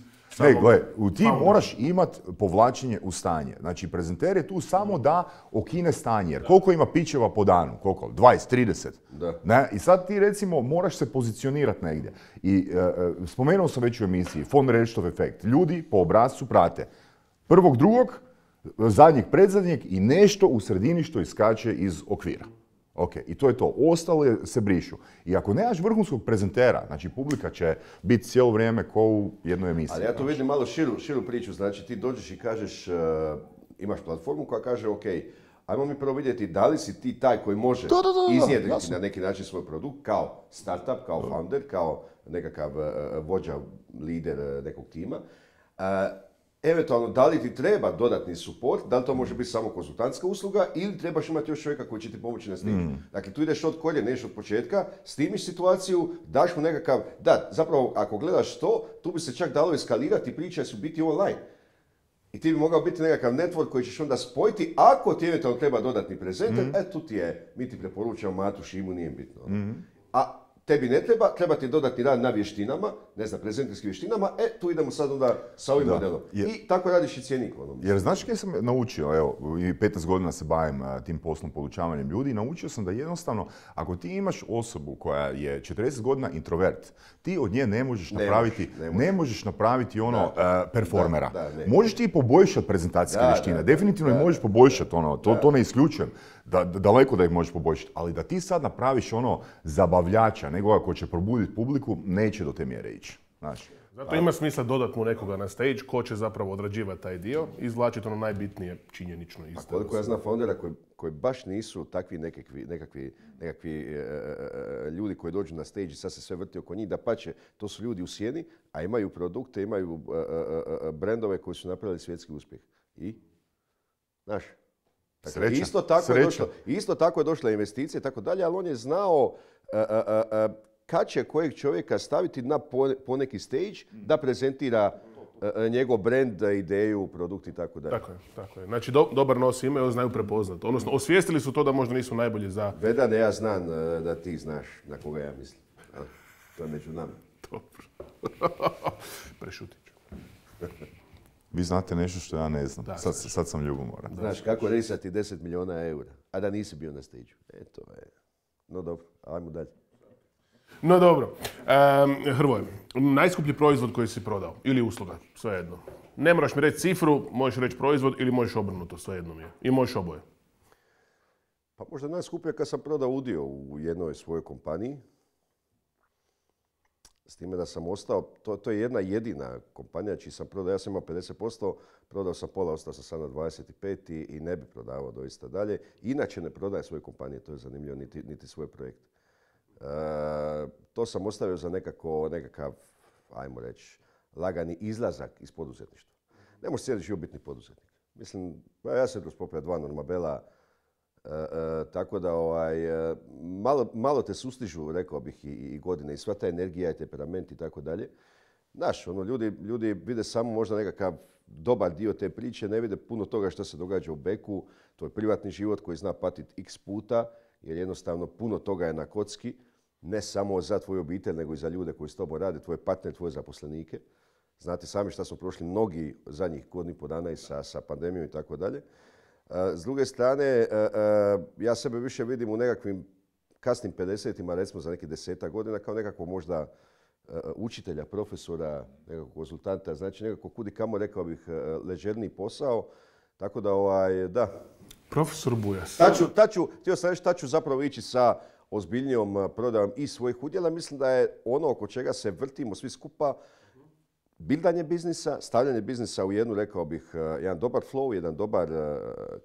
Ti moraš imati povlačenje u stanje. Znači, prezenter je tu samo da okine stanje. Jer koliko ima pićeva po danu? Koliko? 20, 30? Da. Ne? I sad ti, recimo, moraš se pozicionirati negdje. I spomenuo sam već u emisiji, von Restov efekt. Ljudi po obrascu prate prvog, drugog, zadnjeg, predzadnjeg i nešto u sredini što iskače iz okvira. Ok, i to je to. Ostale se brišu. I ako nemaš vrhunskog prezentera, znači publika će biti cijelo vrijeme ko u jednoj emisiji. Ali ja tu vidim malo širu priču. Znači ti dođeš i kažeš, imaš platformu koja kaže, ok, ajmo mi prvo vidjeti da li si ti taj koji može iznjedriti na neki način svoj produkt kao startup, kao founder, kao nekakav vođa, lider nekog tima. Eventualno, da li ti treba dodatni support, da li to može biti samo konzultantska usluga ili trebaš imati još čovjeka koji će ti pomoći na snimu. Dakle, tu ideš od koljena, ideš od početka, snimiš situaciju, daš mu nekakav... Da, zapravo, ako gledaš to, tu bi se čak dalo eskalirati, priče su biti online. I ti bi mogao biti nekakav network koji ćeš onda spojiti, ako ti eventualno treba dodatni prezenter, tu ti je, mi ti preporučamo Matu, Šimu, nije bitno. A tebi ne treba ti dodatni rad na vještinama, ne znam, prezenterskim vještinama, tu idemo sad onda sa ovim modelom. I tako radiš i cjenik. Jer znaš kaj sam naučio, evo, i 15 godina se bavim tim poslom podučavanjem ljudi i naučio sam da jednostavno, ako ti imaš osobu koja je 40 godina introvert, ti od nje ne možeš napraviti ono performera. Možeš ti poboljšati prezentacijske vještine, definitivno ih možeš poboljšati, to ne isključujem. Daleko da ih možeš poboljšati, ali da ti sad napraviš ono zabavljača, nekoga ko će probuditi publiku, neće do te mjere ići. Znači, zato ima smisla dodati mu nekoga na stage ko će zapravo odrađivati taj dio i izvlačiti ono najbitnije činjenično isto. Koliko ja znam foundera koji baš nisu takvi nekakvi ljudi koji dođu na stage i sad se sve vrti oko njih, dapače, to su ljudi u sjeni, a imaju produkte, imaju brendove koji su napravili svjetski uspjeh. I? Znaš? Dakle, isto tako je došla investicija i tako dalje, ali on je znao kad će kojeg čovjeka staviti na poneki stage da prezentira njegov brand, ideju, produkt i tako dalje. Tako je. Znači, dobar nos imaju, znaju prepoznat. Odnosno, osvijestili su to da možda nisu najbolji za... Vedane, ja znam da ti znaš na koga ja mislim. To je među nama. Dobro. Prešutit ću. Vi znate nešto što ja ne znam. Sad sam ljubomoran. Znaš kako risati 10 milijuna eura, a da nisi bio na stage. To je... No dobro, ajmo dalje. No dobro. Hrvoje, najskuplji proizvod koji si prodao ili usluga, svejedno. Ne moraš mi reći cifru, možeš reći proizvod ili možeš obrnuto, svejedno mi je. I možeš oboje. Pa možda najskuplje kad sam prodao udio u jednoj svojoj kompaniji. S time da sam ostao, to je jedna jedina kompanija čiji sam prodao, ja sam imao 50%, prodao sam pola, ostao sam sad na 25% i ne bi prodavao doista dalje. Inače ne prodaje svoje kompanije, to je zanimljivo, niti svoj projekt. To sam ostavio za nekakav, ajmo reći, lagani izlazak iz poduzetništva. Ne možeš cijeli život biti ni poduzetnik. Mislim, ja sam kroz popija 2 Normabela, tako da malo te sustižu, rekao bih, i godine i sva ta energija i temperament i tako dalje. Znaš, ljudi vide samo možda nekakav dobar dio te priče, ne vide puno toga što se događa u beku. To je privatni život koji zna patiti x puta, jer jednostavno puno toga je na kocki. Ne samo za tvoju obitelj, nego i za ljude koji s tobom rade, tvoje partnere, tvoje zaposlenike. Znate sami šta smo prošli mnogi zadnjih godinu i pol dana i sa pandemijom i tako dalje. S druge strane, ja sebe više vidim u nekakvim kasnim 50-ima, recimo za nekih 10 godina, kao nekako možda učitelja, profesora, nekakvog konzultanta, znači nekako kudi kamo, rekao bih, ležerniji posao. Tako da, da. Profesor Bujas. Htio sam reći, tad ću zapravo ići sa ozbiljnijom prodajom i svojih udjela. Mislim da je ono oko čega se vrtimo svi skupa bildanje biznisa, stavljanje biznisa u jednu, rekao bih, jedan dobar flow, jedan dobar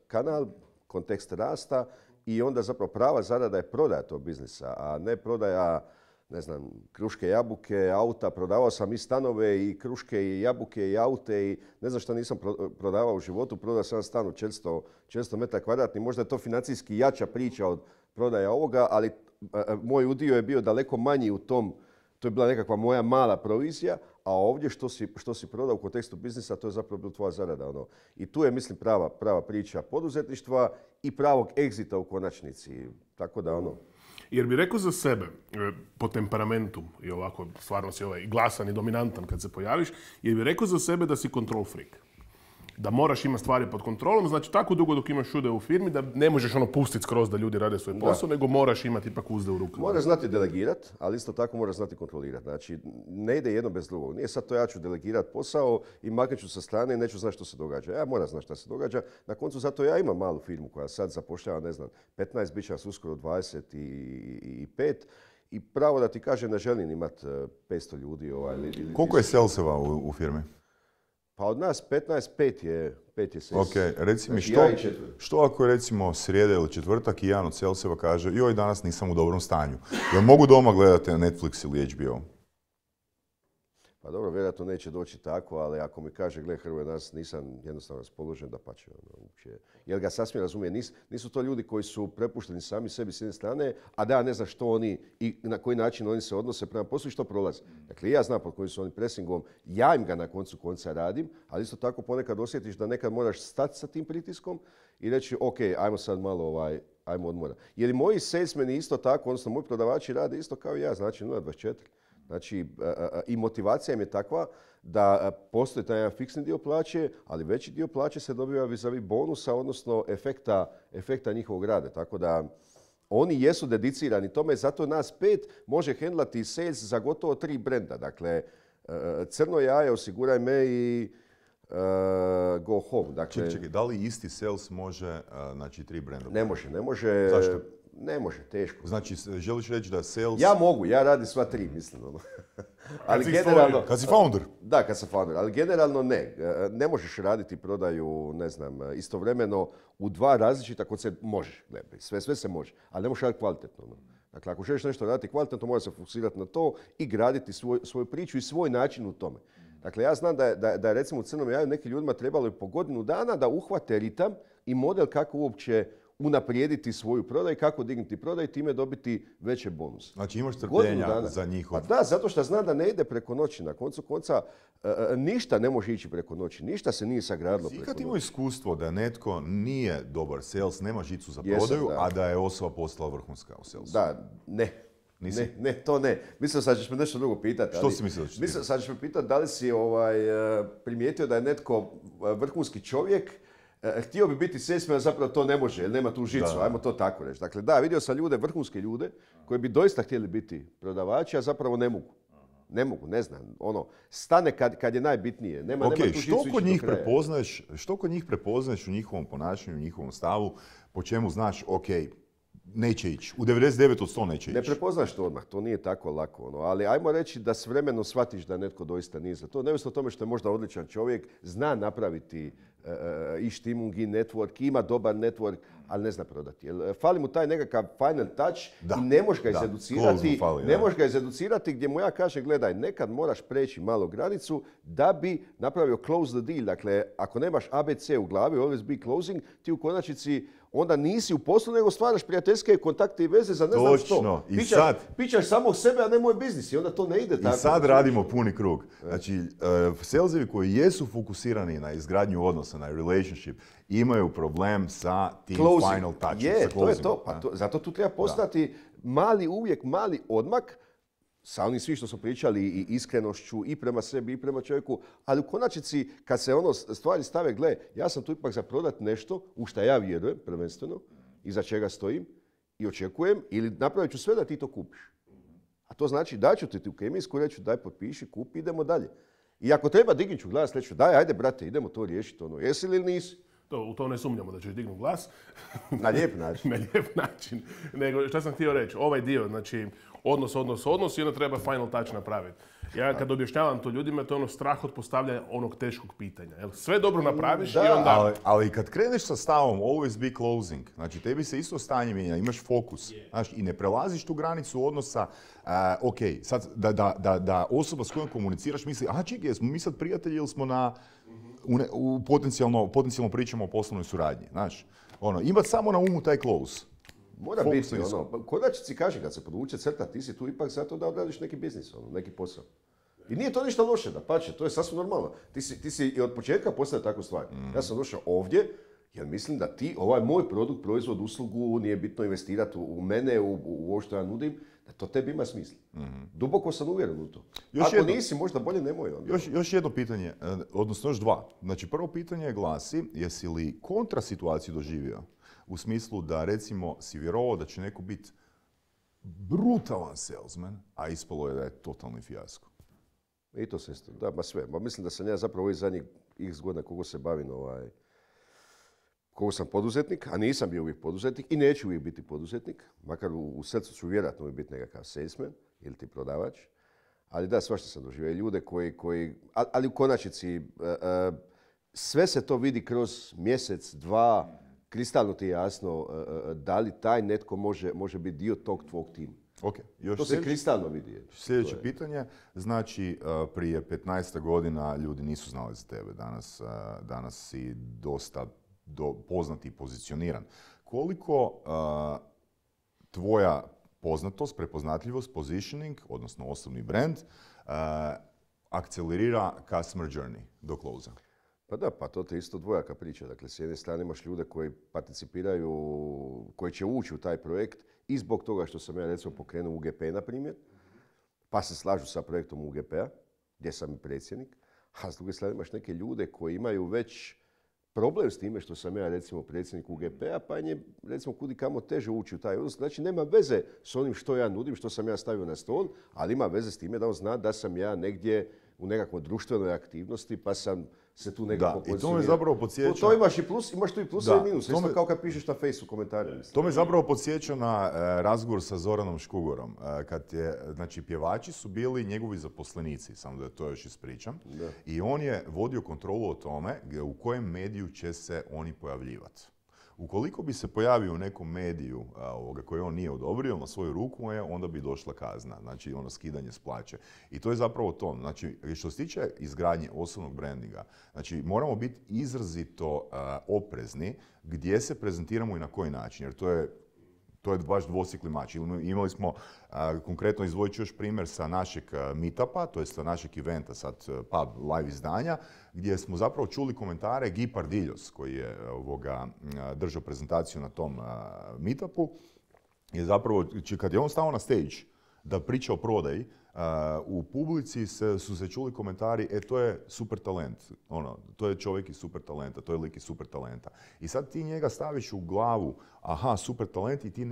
kanal, kontekst rasta i onda zapravo prava zarada je prodaja tog biznisa, a ne prodaja, ne znam, kruške, jabuke, auta. Prodavao sam i stanove i kruške i jabuke i aute i ne znam šta nisam prodavao u životu. Prodao sam stan u 400 metara kvadratnih. Možda je to financijski jača priča od prodaja ovoga, ali moj udio je bio daleko manji u tom. To je bila nekakva moja mala provizija, a ovdje što si prodao u kontekstu biznisa, to je zapravo bila tvoja zarada. I tu je, mislim, prava priča poduzetništva i pravog egzita u konačnici. Tako da Jer bi rekao za sebe, po temperamentu i ovako, stvarno si glasan i dominantan kad se pojaviš, jer bi rekao za sebe da si control freak. Da moraš imati stvari pod kontrolom, znači tako dugo dok imaš ude u firmi da ne možeš pustiti skroz da ljudi rade svoj posao, nego moraš imati ipak uzde u rukama. Moraš znati delegirati, ali isto tako moraš znati kontrolirati. Znači, ne ide jedno bez drugog. Nije sad to ja ću delegirati posao i maknut ću sa strane i neću znati što se događa. Ja moram znati što se događa. Na koncu zato ja imam malu firmu koja sad zapošljava, ne znam, 15, bit će nas uskoro 25. I pravo da ti kažem, ne želim imati 500 ljudi. Koliko je saleseva u firmi? Pa od nas 15, 5 je sales. Ok, reci mi znači, što ako je recimo srijeda ili četvrtak i jedan od saleseva kaže joj, danas nisam u dobrom stanju. Jel mogu doma gledati Netflix ili HBO? Pa dobro, vjerojatno neće doći tako, ali ako mi kaže, gle Hrvoje, danas nisam jednostavno raspoložen, dapače. Jer ga sasvim razumije, nisu to ljudi koji su prepušteni sami sebi s jedne strane, a da ja ne znam što oni i na koji način oni se odnose prema poslu i što prolaze. Dakle, ja znam pod kojim su oni presingom, ja im ga na koncu konca radim, ali isto tako ponekad osjetiš da nekad moraš stati sa tim pritiskom i reći, ok, ajmo sad malo ajmo odmora. Jer i moji salesmeni isto tako, odnosno moji prodavači rade isto kao i ja, znači 0,24. Znači, i motivacija im je takva da postoji taj jedan fiksni dio plaće, ali veći dio plaće se dobiva vis-a-vis bonusa, odnosno efekta njihovog rada. Tako da oni jesu dedicirani tome, zato nas 5 može hendlati sales za gotovo 3 brenda. Dakle, Crno jaje, Osiguraj me i Go Home. Dakle, čekaj, da li isti sales može, znači 3 brenda? Ne može. Zašto? Ne može, teško. Znači, želiš reći da sales... Ja mogu, ja radim sva 3, mislim. Ali generalno... Kad si founder? Da, kad sam founder, ali generalno ne. Ne možeš raditi prodaju, ne znam, istovremeno u 2 različita koncepta. Možeš, sve se može, ali ne možeš raditi kvalitetno. Dakle, ako želiš nešto raditi kvalitetno, moraš se fokusirati na to i graditi svoju priču i svoj način u tome. Dakle, ja znam da je recimo u Crnom jaju nekim ljudima trebalo i po godinu dana da uhvate ritam i model kako uopće unaprijediti svoju prodaju, kako dignuti prodaju i time dobiti veće bonuse. Znači imaš trpljenja za njihov... Pa da, zato što znam da ne ide preko noći. Na koncu konca ništa ne može ići preko noći. Ništa se nije sagradilo preko noći. Ikad imao iskustvo da netko nije dobar sales, nema žicu za prodaju, a da je osoba postala vrhunska u salesu? Da, ne. Nisi? Ne, to ne. Mislim sad ćeš me nešto drugo pitati. Što si mislio da ću Mislim sad ćeš me pitati da li si primijetio da je netko vrhunski čovjek, htio bi biti salesman, a zapravo to ne može, jer nema tu žicu, ajmo to tako reći. Dakle, da, vidio sam ljude, vrhunske ljude, koji bi doista htjeli biti prodavači, a zapravo ne mogu. Ne znam, stane kad je najbitnije. Nema tu žicu što kod njih do kraja. Što kod njih prepoznaješ u njihovom ponašanju, u njihovom stavu, po čemu znaš, neće ići. U 99 od 100 neće ići. Ne prepoznaš to odmah, to nije tako lako. Ali ajmo reći da s vremenom shvatiš da netko doista nije za to. Neovisno o tome što je možda odličan čovjek, zna napraviti i štimung i network, ima dobar network, ali ne zna prodati. Fali mu taj nekakav final touch i ne možeš ga izeducirati. Ne možeš ga izeducirati gdje mu ja kažem, gledaj, nekad moraš preći malo granicu da bi napravio close the deal. Dakle, ako nemaš ABC u glavi, always be closing, ti u konačnici onda nisi u poslu, nego stvaraš prijateljske kontakte i veze za ne znam što. Pičaš samo sebe, a ne moj biznis i onda to ne ide tako. I sad radimo puni krug. Znači, salesevi koji jesu fokusirani na izgradnju odnosa, na relationship, imaju problem sa tim closing. Final touchom. To je to. Zato tu treba postati uvijek mali odmak sa onim svi što smo pričali i iskrenošću i prema sebi i prema čovjeku, ali u konačnici kad se stvari stave, gle, ja sam tu ipak za prodat nešto u što ja vjerujem prvenstveno i za čega stojim i očekujem ili napravit ću sve da ti to kupiš. A to znači daću ti u kemijsku, reću daj potpiši, kupi, idemo dalje. I ako treba dignut ću glas, reću daj, ajde brate, idemo to riješiti, jesi li ili nisi? U to ne sumnjamo da ćeš dignu glas. Na lijep način. Na lijep način. Nego, šta sam htio reći, ovaj dio, znači, odnos i onda treba final touch napraviti. Ja kad objašnjavam to ljudima, to je strah od postavljanja onog teškog pitanja. Sve dobro napraviš i onda... Ali kad kreneš sa stavom always be closing, znači tebi se isto stanje mijenja, imaš fokus, znaš, i ne prelaziš tu granicu odnosa, sad da osoba s kojom komuniciraš misli, čekaj, jesmo mi sad prijatelji ili smo potencijalno pričamo o poslovnoj suradnji, znaš. Imati samo na umu taj close. Mora biti, konačnici kaže, kad se podvuče crta, ti si tu ipak zato da odradiš neki biznis, neki posao. I nije to ništa loše, dapače, to je sasvim normalno. Ti si i od početka postavio takvu stvar. Ja sam došao ovdje, jer mislim da ti, ovaj moj produkt, proizvod, uslugu, nije bitno investirati u mene, u ovo što ja nudim, da to tebi ima smisla. Duboko sam uvjeren u to. Ako nisi, možda bolje nemoj. Još jedno pitanje, odnosno još dva. Znači, prvo pitanje glasi, jesi li kontra situaciju doživio? U smislu da, recimo, si vjerovao da će neko biti brutalan salesman, a ispalo je da je totalni fijasko. I to se isto, da, sve. Mislim da sam ja zapravo ovih zadnjih x godina koliko se bavim, koliko sam poduzetnik, a nisam bio uvijek poduzetnik i neću uvijek biti poduzetnik, makar u srcu ću vjerojatno uvijek biti nekakav salesman ili ti prodavač. Ali da, svašta sam doživio. Ljude ali u konačnici sve se to vidi kroz mjesec, dva, kristalno ti je jasno da li taj netko može biti dio tog tvog tima. To se kristalno vidi. Sljedeće pitanje, znači prije 15 godina ljudi nisu znali za tebe, danas si dosta poznat i pozicioniran. Koliko tvoja poznatost, prepoznatljivost, positioning, odnosno osobni brand, akcelerira customer journey do close-a? Pa da, pa to je isto dvojaka priča. Dakle, s jedne strane imaš ljude koji participiraju, koji će ući u taj projekt i zbog toga što sam ja recimo pokrenuo UGP, na primjer, pa se slažu sa projektom UGP-a, gdje sam i predsjednik, a s druge strane imaš neke ljude koji imaju već problem s time što sam ja recimo predsjednik UGP-a, pa je recimo kudi kamo teže ući u taj odnos. Znači, nema veze s onim što ja nudim, što sam ja stavio na stol, ali ima veze s time da on zna da sam ja negdje u nekakvoj društvenoj aktivnosti, pa sam se tu nekako pozicionirao. I to me zapravo podsjeća... To imaš tu i plus i minus. Isto kao kad pišeš na Facebooku komentare. To me zapravo podsjeća na razgovor sa Zoranom Škugorom. Znači, pjevači su bili njegovi zaposlenici, samo da to još ispričam. Da. I on je vodio kontrolu o tome u kojem mediju će se oni pojavljivati. Ukoliko bi se pojavio u nekom mediju koji on nije odobrio na svoju ruku, onda bi došla kazna, znači ono skidanje s plaće. I to je zapravo to. Znači, što se tiče izgradnje osobnog brandinga, znači moramo biti izrazito oprezni gdje se prezentiramo i na koji način, jer to je baš dvosjekli mač. Imali smo, konkretno izdvojit ću još primjer sa našeg meetupa, to je sa našeg eventa, sad pub live izdanja, gdje smo zapravo čuli komentare Guy Pardiljos, koji je držao prezentaciju na tom meetupu, je zapravo, kad je on stao na stage da priča o prodaji, u publici su se čuli komentari, to je super talent, to je čovjek iz super talenta, to je lik iz super talenta. I sad ti njega staviš u glavu, aha, super talent, i ti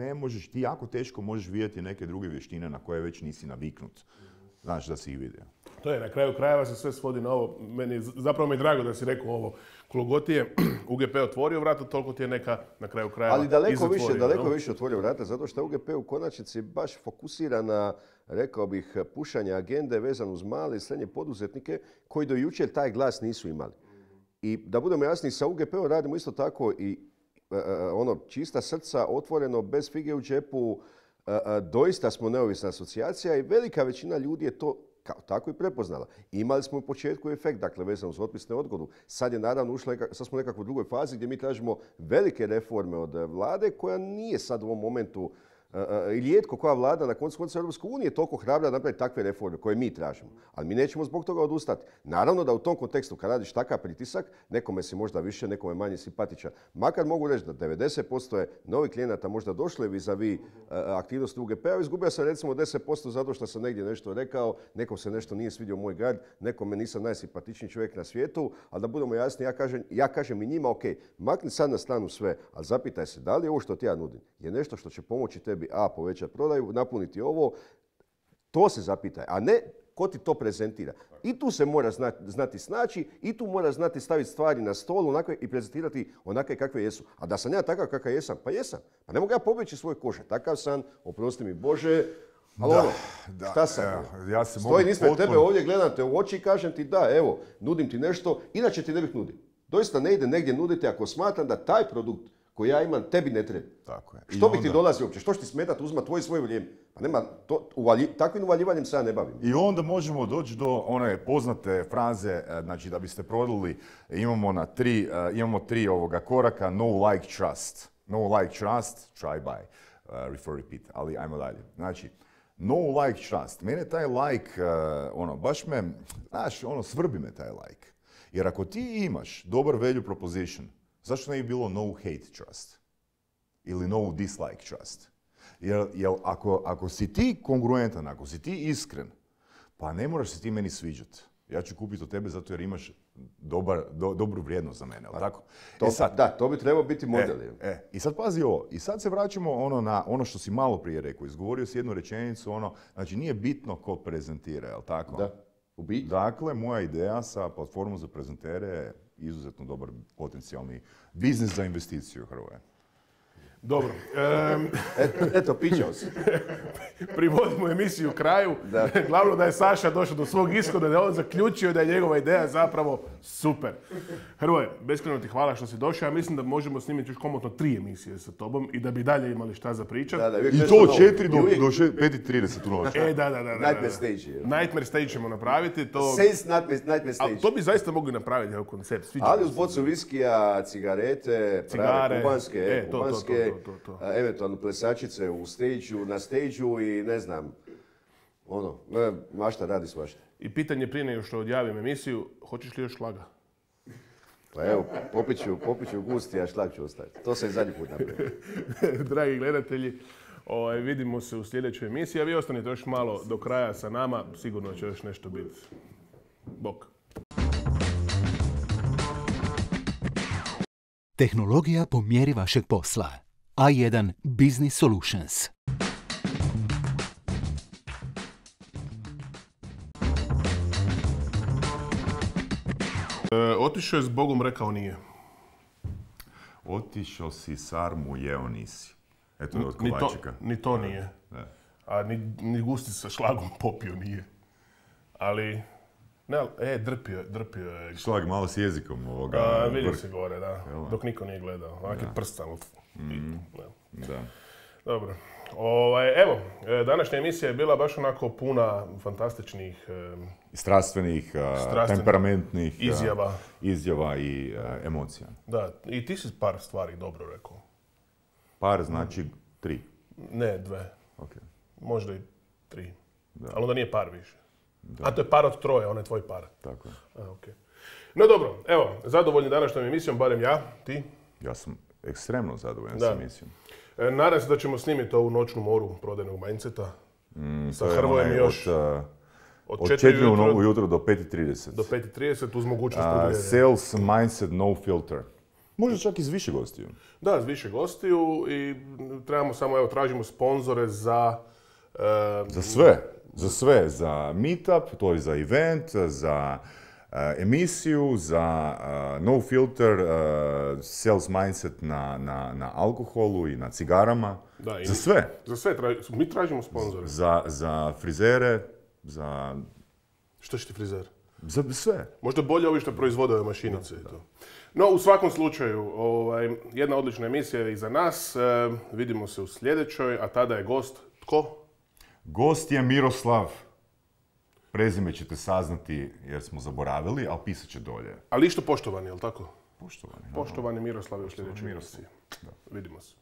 jako teško možeš vidjeti neke druge vještine na koje već nisi naviknut. Znaš da si ih vidio. To je, na kraju krajeva se sve svodi na ovo. Zapravo mi je drago da si rekao ovo. Koliko god ti je UGP otvorio vrata, toliko ti je neka na kraju krajeva ali daleko više otvorio vrata, zato što UGP u konačnici baš fokusira na, rekao bih, pušanje agende vezano uz male i srednje poduzetnike koji do jučer taj glas nisu imali. I da budemo jasni, sa UGP-om radimo isto tako i čista srca, otvoreno, bez fige u džepu. Doista smo neovisna asocijacija i velika većina ljudi je to kao tako i prepoznala. Imali smo u početku efekt, dakle vezano uz otpisne odgodu. Sad je naravno sad smo nekako u drugoj fazi gdje mi tražimo velike reforme od vlade koja nije sad u ovom momentu i rijetko koja vlada na koncu konca Europske unije toliko hrabra napraviti takve reforme koje mi tražimo. Ali mi nećemo zbog toga odustati. Naravno da u tom kontekstu kad radiš takav pritisak, nekome si možda više, nekome manje simpatičan. Makar mogu reći da 90% je novih klijenata možda došli vis-a-vis aktivnosti UGP-a. Izgubio sam recimo 10% zato što sam negdje nešto rekao, nekom se nešto nije svidio moj grad, nekome nisam najsimpatičniji čovjek na svijetu, ali da budemo jasni, ja kažem i njima, ok, makni sad na stranu sve, ali zapitaj se da li ovo što ti ja nudim je nešto što će pomoći tebi povećati prodaju, napuniti ovo, to se zapitaj, a ne ko ti to prezentira. I tu se mora znati snaći, i tu mora znati staviti stvari na stol i prezentirati onakve kakve jesu. A da sam ja takav kakav jesam, pa jesam. Pa ne mogu ja pobjeći svoje kože. Takav sam, oprosti mi Bože, ali šta sam? Stojim ispred tebe ovdje, gledam te u oči i kažem ti da, evo, nudim ti nešto, inače ti ne bih nudio. Doista ne ide negdje nuditi ako smatram da taj produkt koji ja imam, tebi ne treba. Tako je. Što bi ti dolazio uopće? Što će ti smetati uzma svoje vrijeme? Pa nema, takvim uvaljivanjem se ja ne bavim. I onda možemo doći do one poznate fraze, znači da biste prodali, imamo tri koraka, no like trust. No like trust, try buy, refer repeat, ali ajmo dalje. Znači, no like trust. Mene taj like, baš me, znaš, svrbi me taj like. Jer ako ti imaš dobar value proposition, zašto ne bi bilo no hate trust? Ili no dislike trust? Jer ako si ti kongruentan, ako si ti iskren, pa ne moraš se ti meni sviđati. Ja ću kupiti od tebe zato jer imaš dobru vrijednost za mene, ali tako? To bi trebao biti model. I sad pazi ovo, i sad se vraćamo na ono što si malo prije rekao. Izgovorio si jednu rečenicu, znači nije bitno ko prezentira, jel tako? Da. Dakle, moja ideja sa platformom za prezentere je izuzetno dobar potencijalni biznis za investiciju Hrvoje. Dobro. Eto, pićao si. Privodimo emisiju kraju. Glavno da je Saša došao do svog ishoda, da je on zaključio da je njegova ideja zapravo super. Hrvoje, beskrajno ti hvala što si došao. Ja mislim da možemo snimiti još komotno 3 emisije sa tobom i da bi dalje imali šta za pričat. I to od 4 do 5:30 u noći. Da. Nightmare stage. Nightmare stage ćemo napraviti. Nightmare stage. To bi zaista mogli napraviti, evo koncept. Ali uz bocu viskija, cigarete, prave kubanske, eventualno plesačice na stage-u i ne znam, mašta radi svašta. I pitanje prije nego što odjavim emisiju, hoćeš li još šlaga? Pa evo, popit ću gusti, a šlag ću ostaviti. To se i zadnji put napravio. Dragi gledatelji, vidimo se u sljedećoj emisiji, a vi ostanite još malo do kraja sa nama, sigurno će još nešto biti. Bok. Tehnologija po mjeri vašeg posla. A1 Business Solutions. Otišao je s Bogom, rekao nije. Otišao si sarmu, jeo nisi. Eto je od Kovačika. Ni to nije. Ne. A ni gusti sa šlagom popio nije. Ali Ne, ali, drpio je. Šlag malo s jezikom ovoga. Vidi se gore, da. Dok niko nije gledao. Ovak je prst, ali... Da. Dobro. Evo, današnja emisija je bila baš onako puna fantastičnih Strastvenih, temperamentnih izjava i emocija. Da, i ti si par stvari dobro rekao. Par znači 3. Ne, 2. Okay. Možda i 3. Ali onda nije par više. A to je par od 3, on je tvoj par. Tako je. Okay. No dobro, evo, zadovoljni današnjom emisijom, barem ja, ti? Ja sam ekstremno zadovoljan s emisijom. Nadam se da ćemo snimiti ovu noćnu moru prodajnog mindseta. Sa Hrvojem još... Od 4 ujutro do 5:30. Do 5:30 uz mogućnost produljenja. Sales mindset, no filter. Možda čak i s više gostiju. Da, s više gostiju i trebamo samo, evo, tražimo sponzore za... Za sve. Za meetup, to je za event, za emisiju, za no filter, sales mindset na alkoholu i na cigarama. Da, za sve. Za sve, mi tražimo sponzore. Za frizere, za... Što će ti frizer? Za sve. Možda bolje ovi što proizvode ove mašinice. Da. No, u svakom slučaju, jedna odlična emisija je iza nas. Vidimo se u sljedećoj, a tada je gost. Tko? Gost je Miroslav. Prezime ćete saznati jer smo zaboravili, ali pisat će dolje. Ali išto poštovani, jel tako? Poštovani. Poštovani Miroslav je u sljedećoj emisiji. Vidimo se.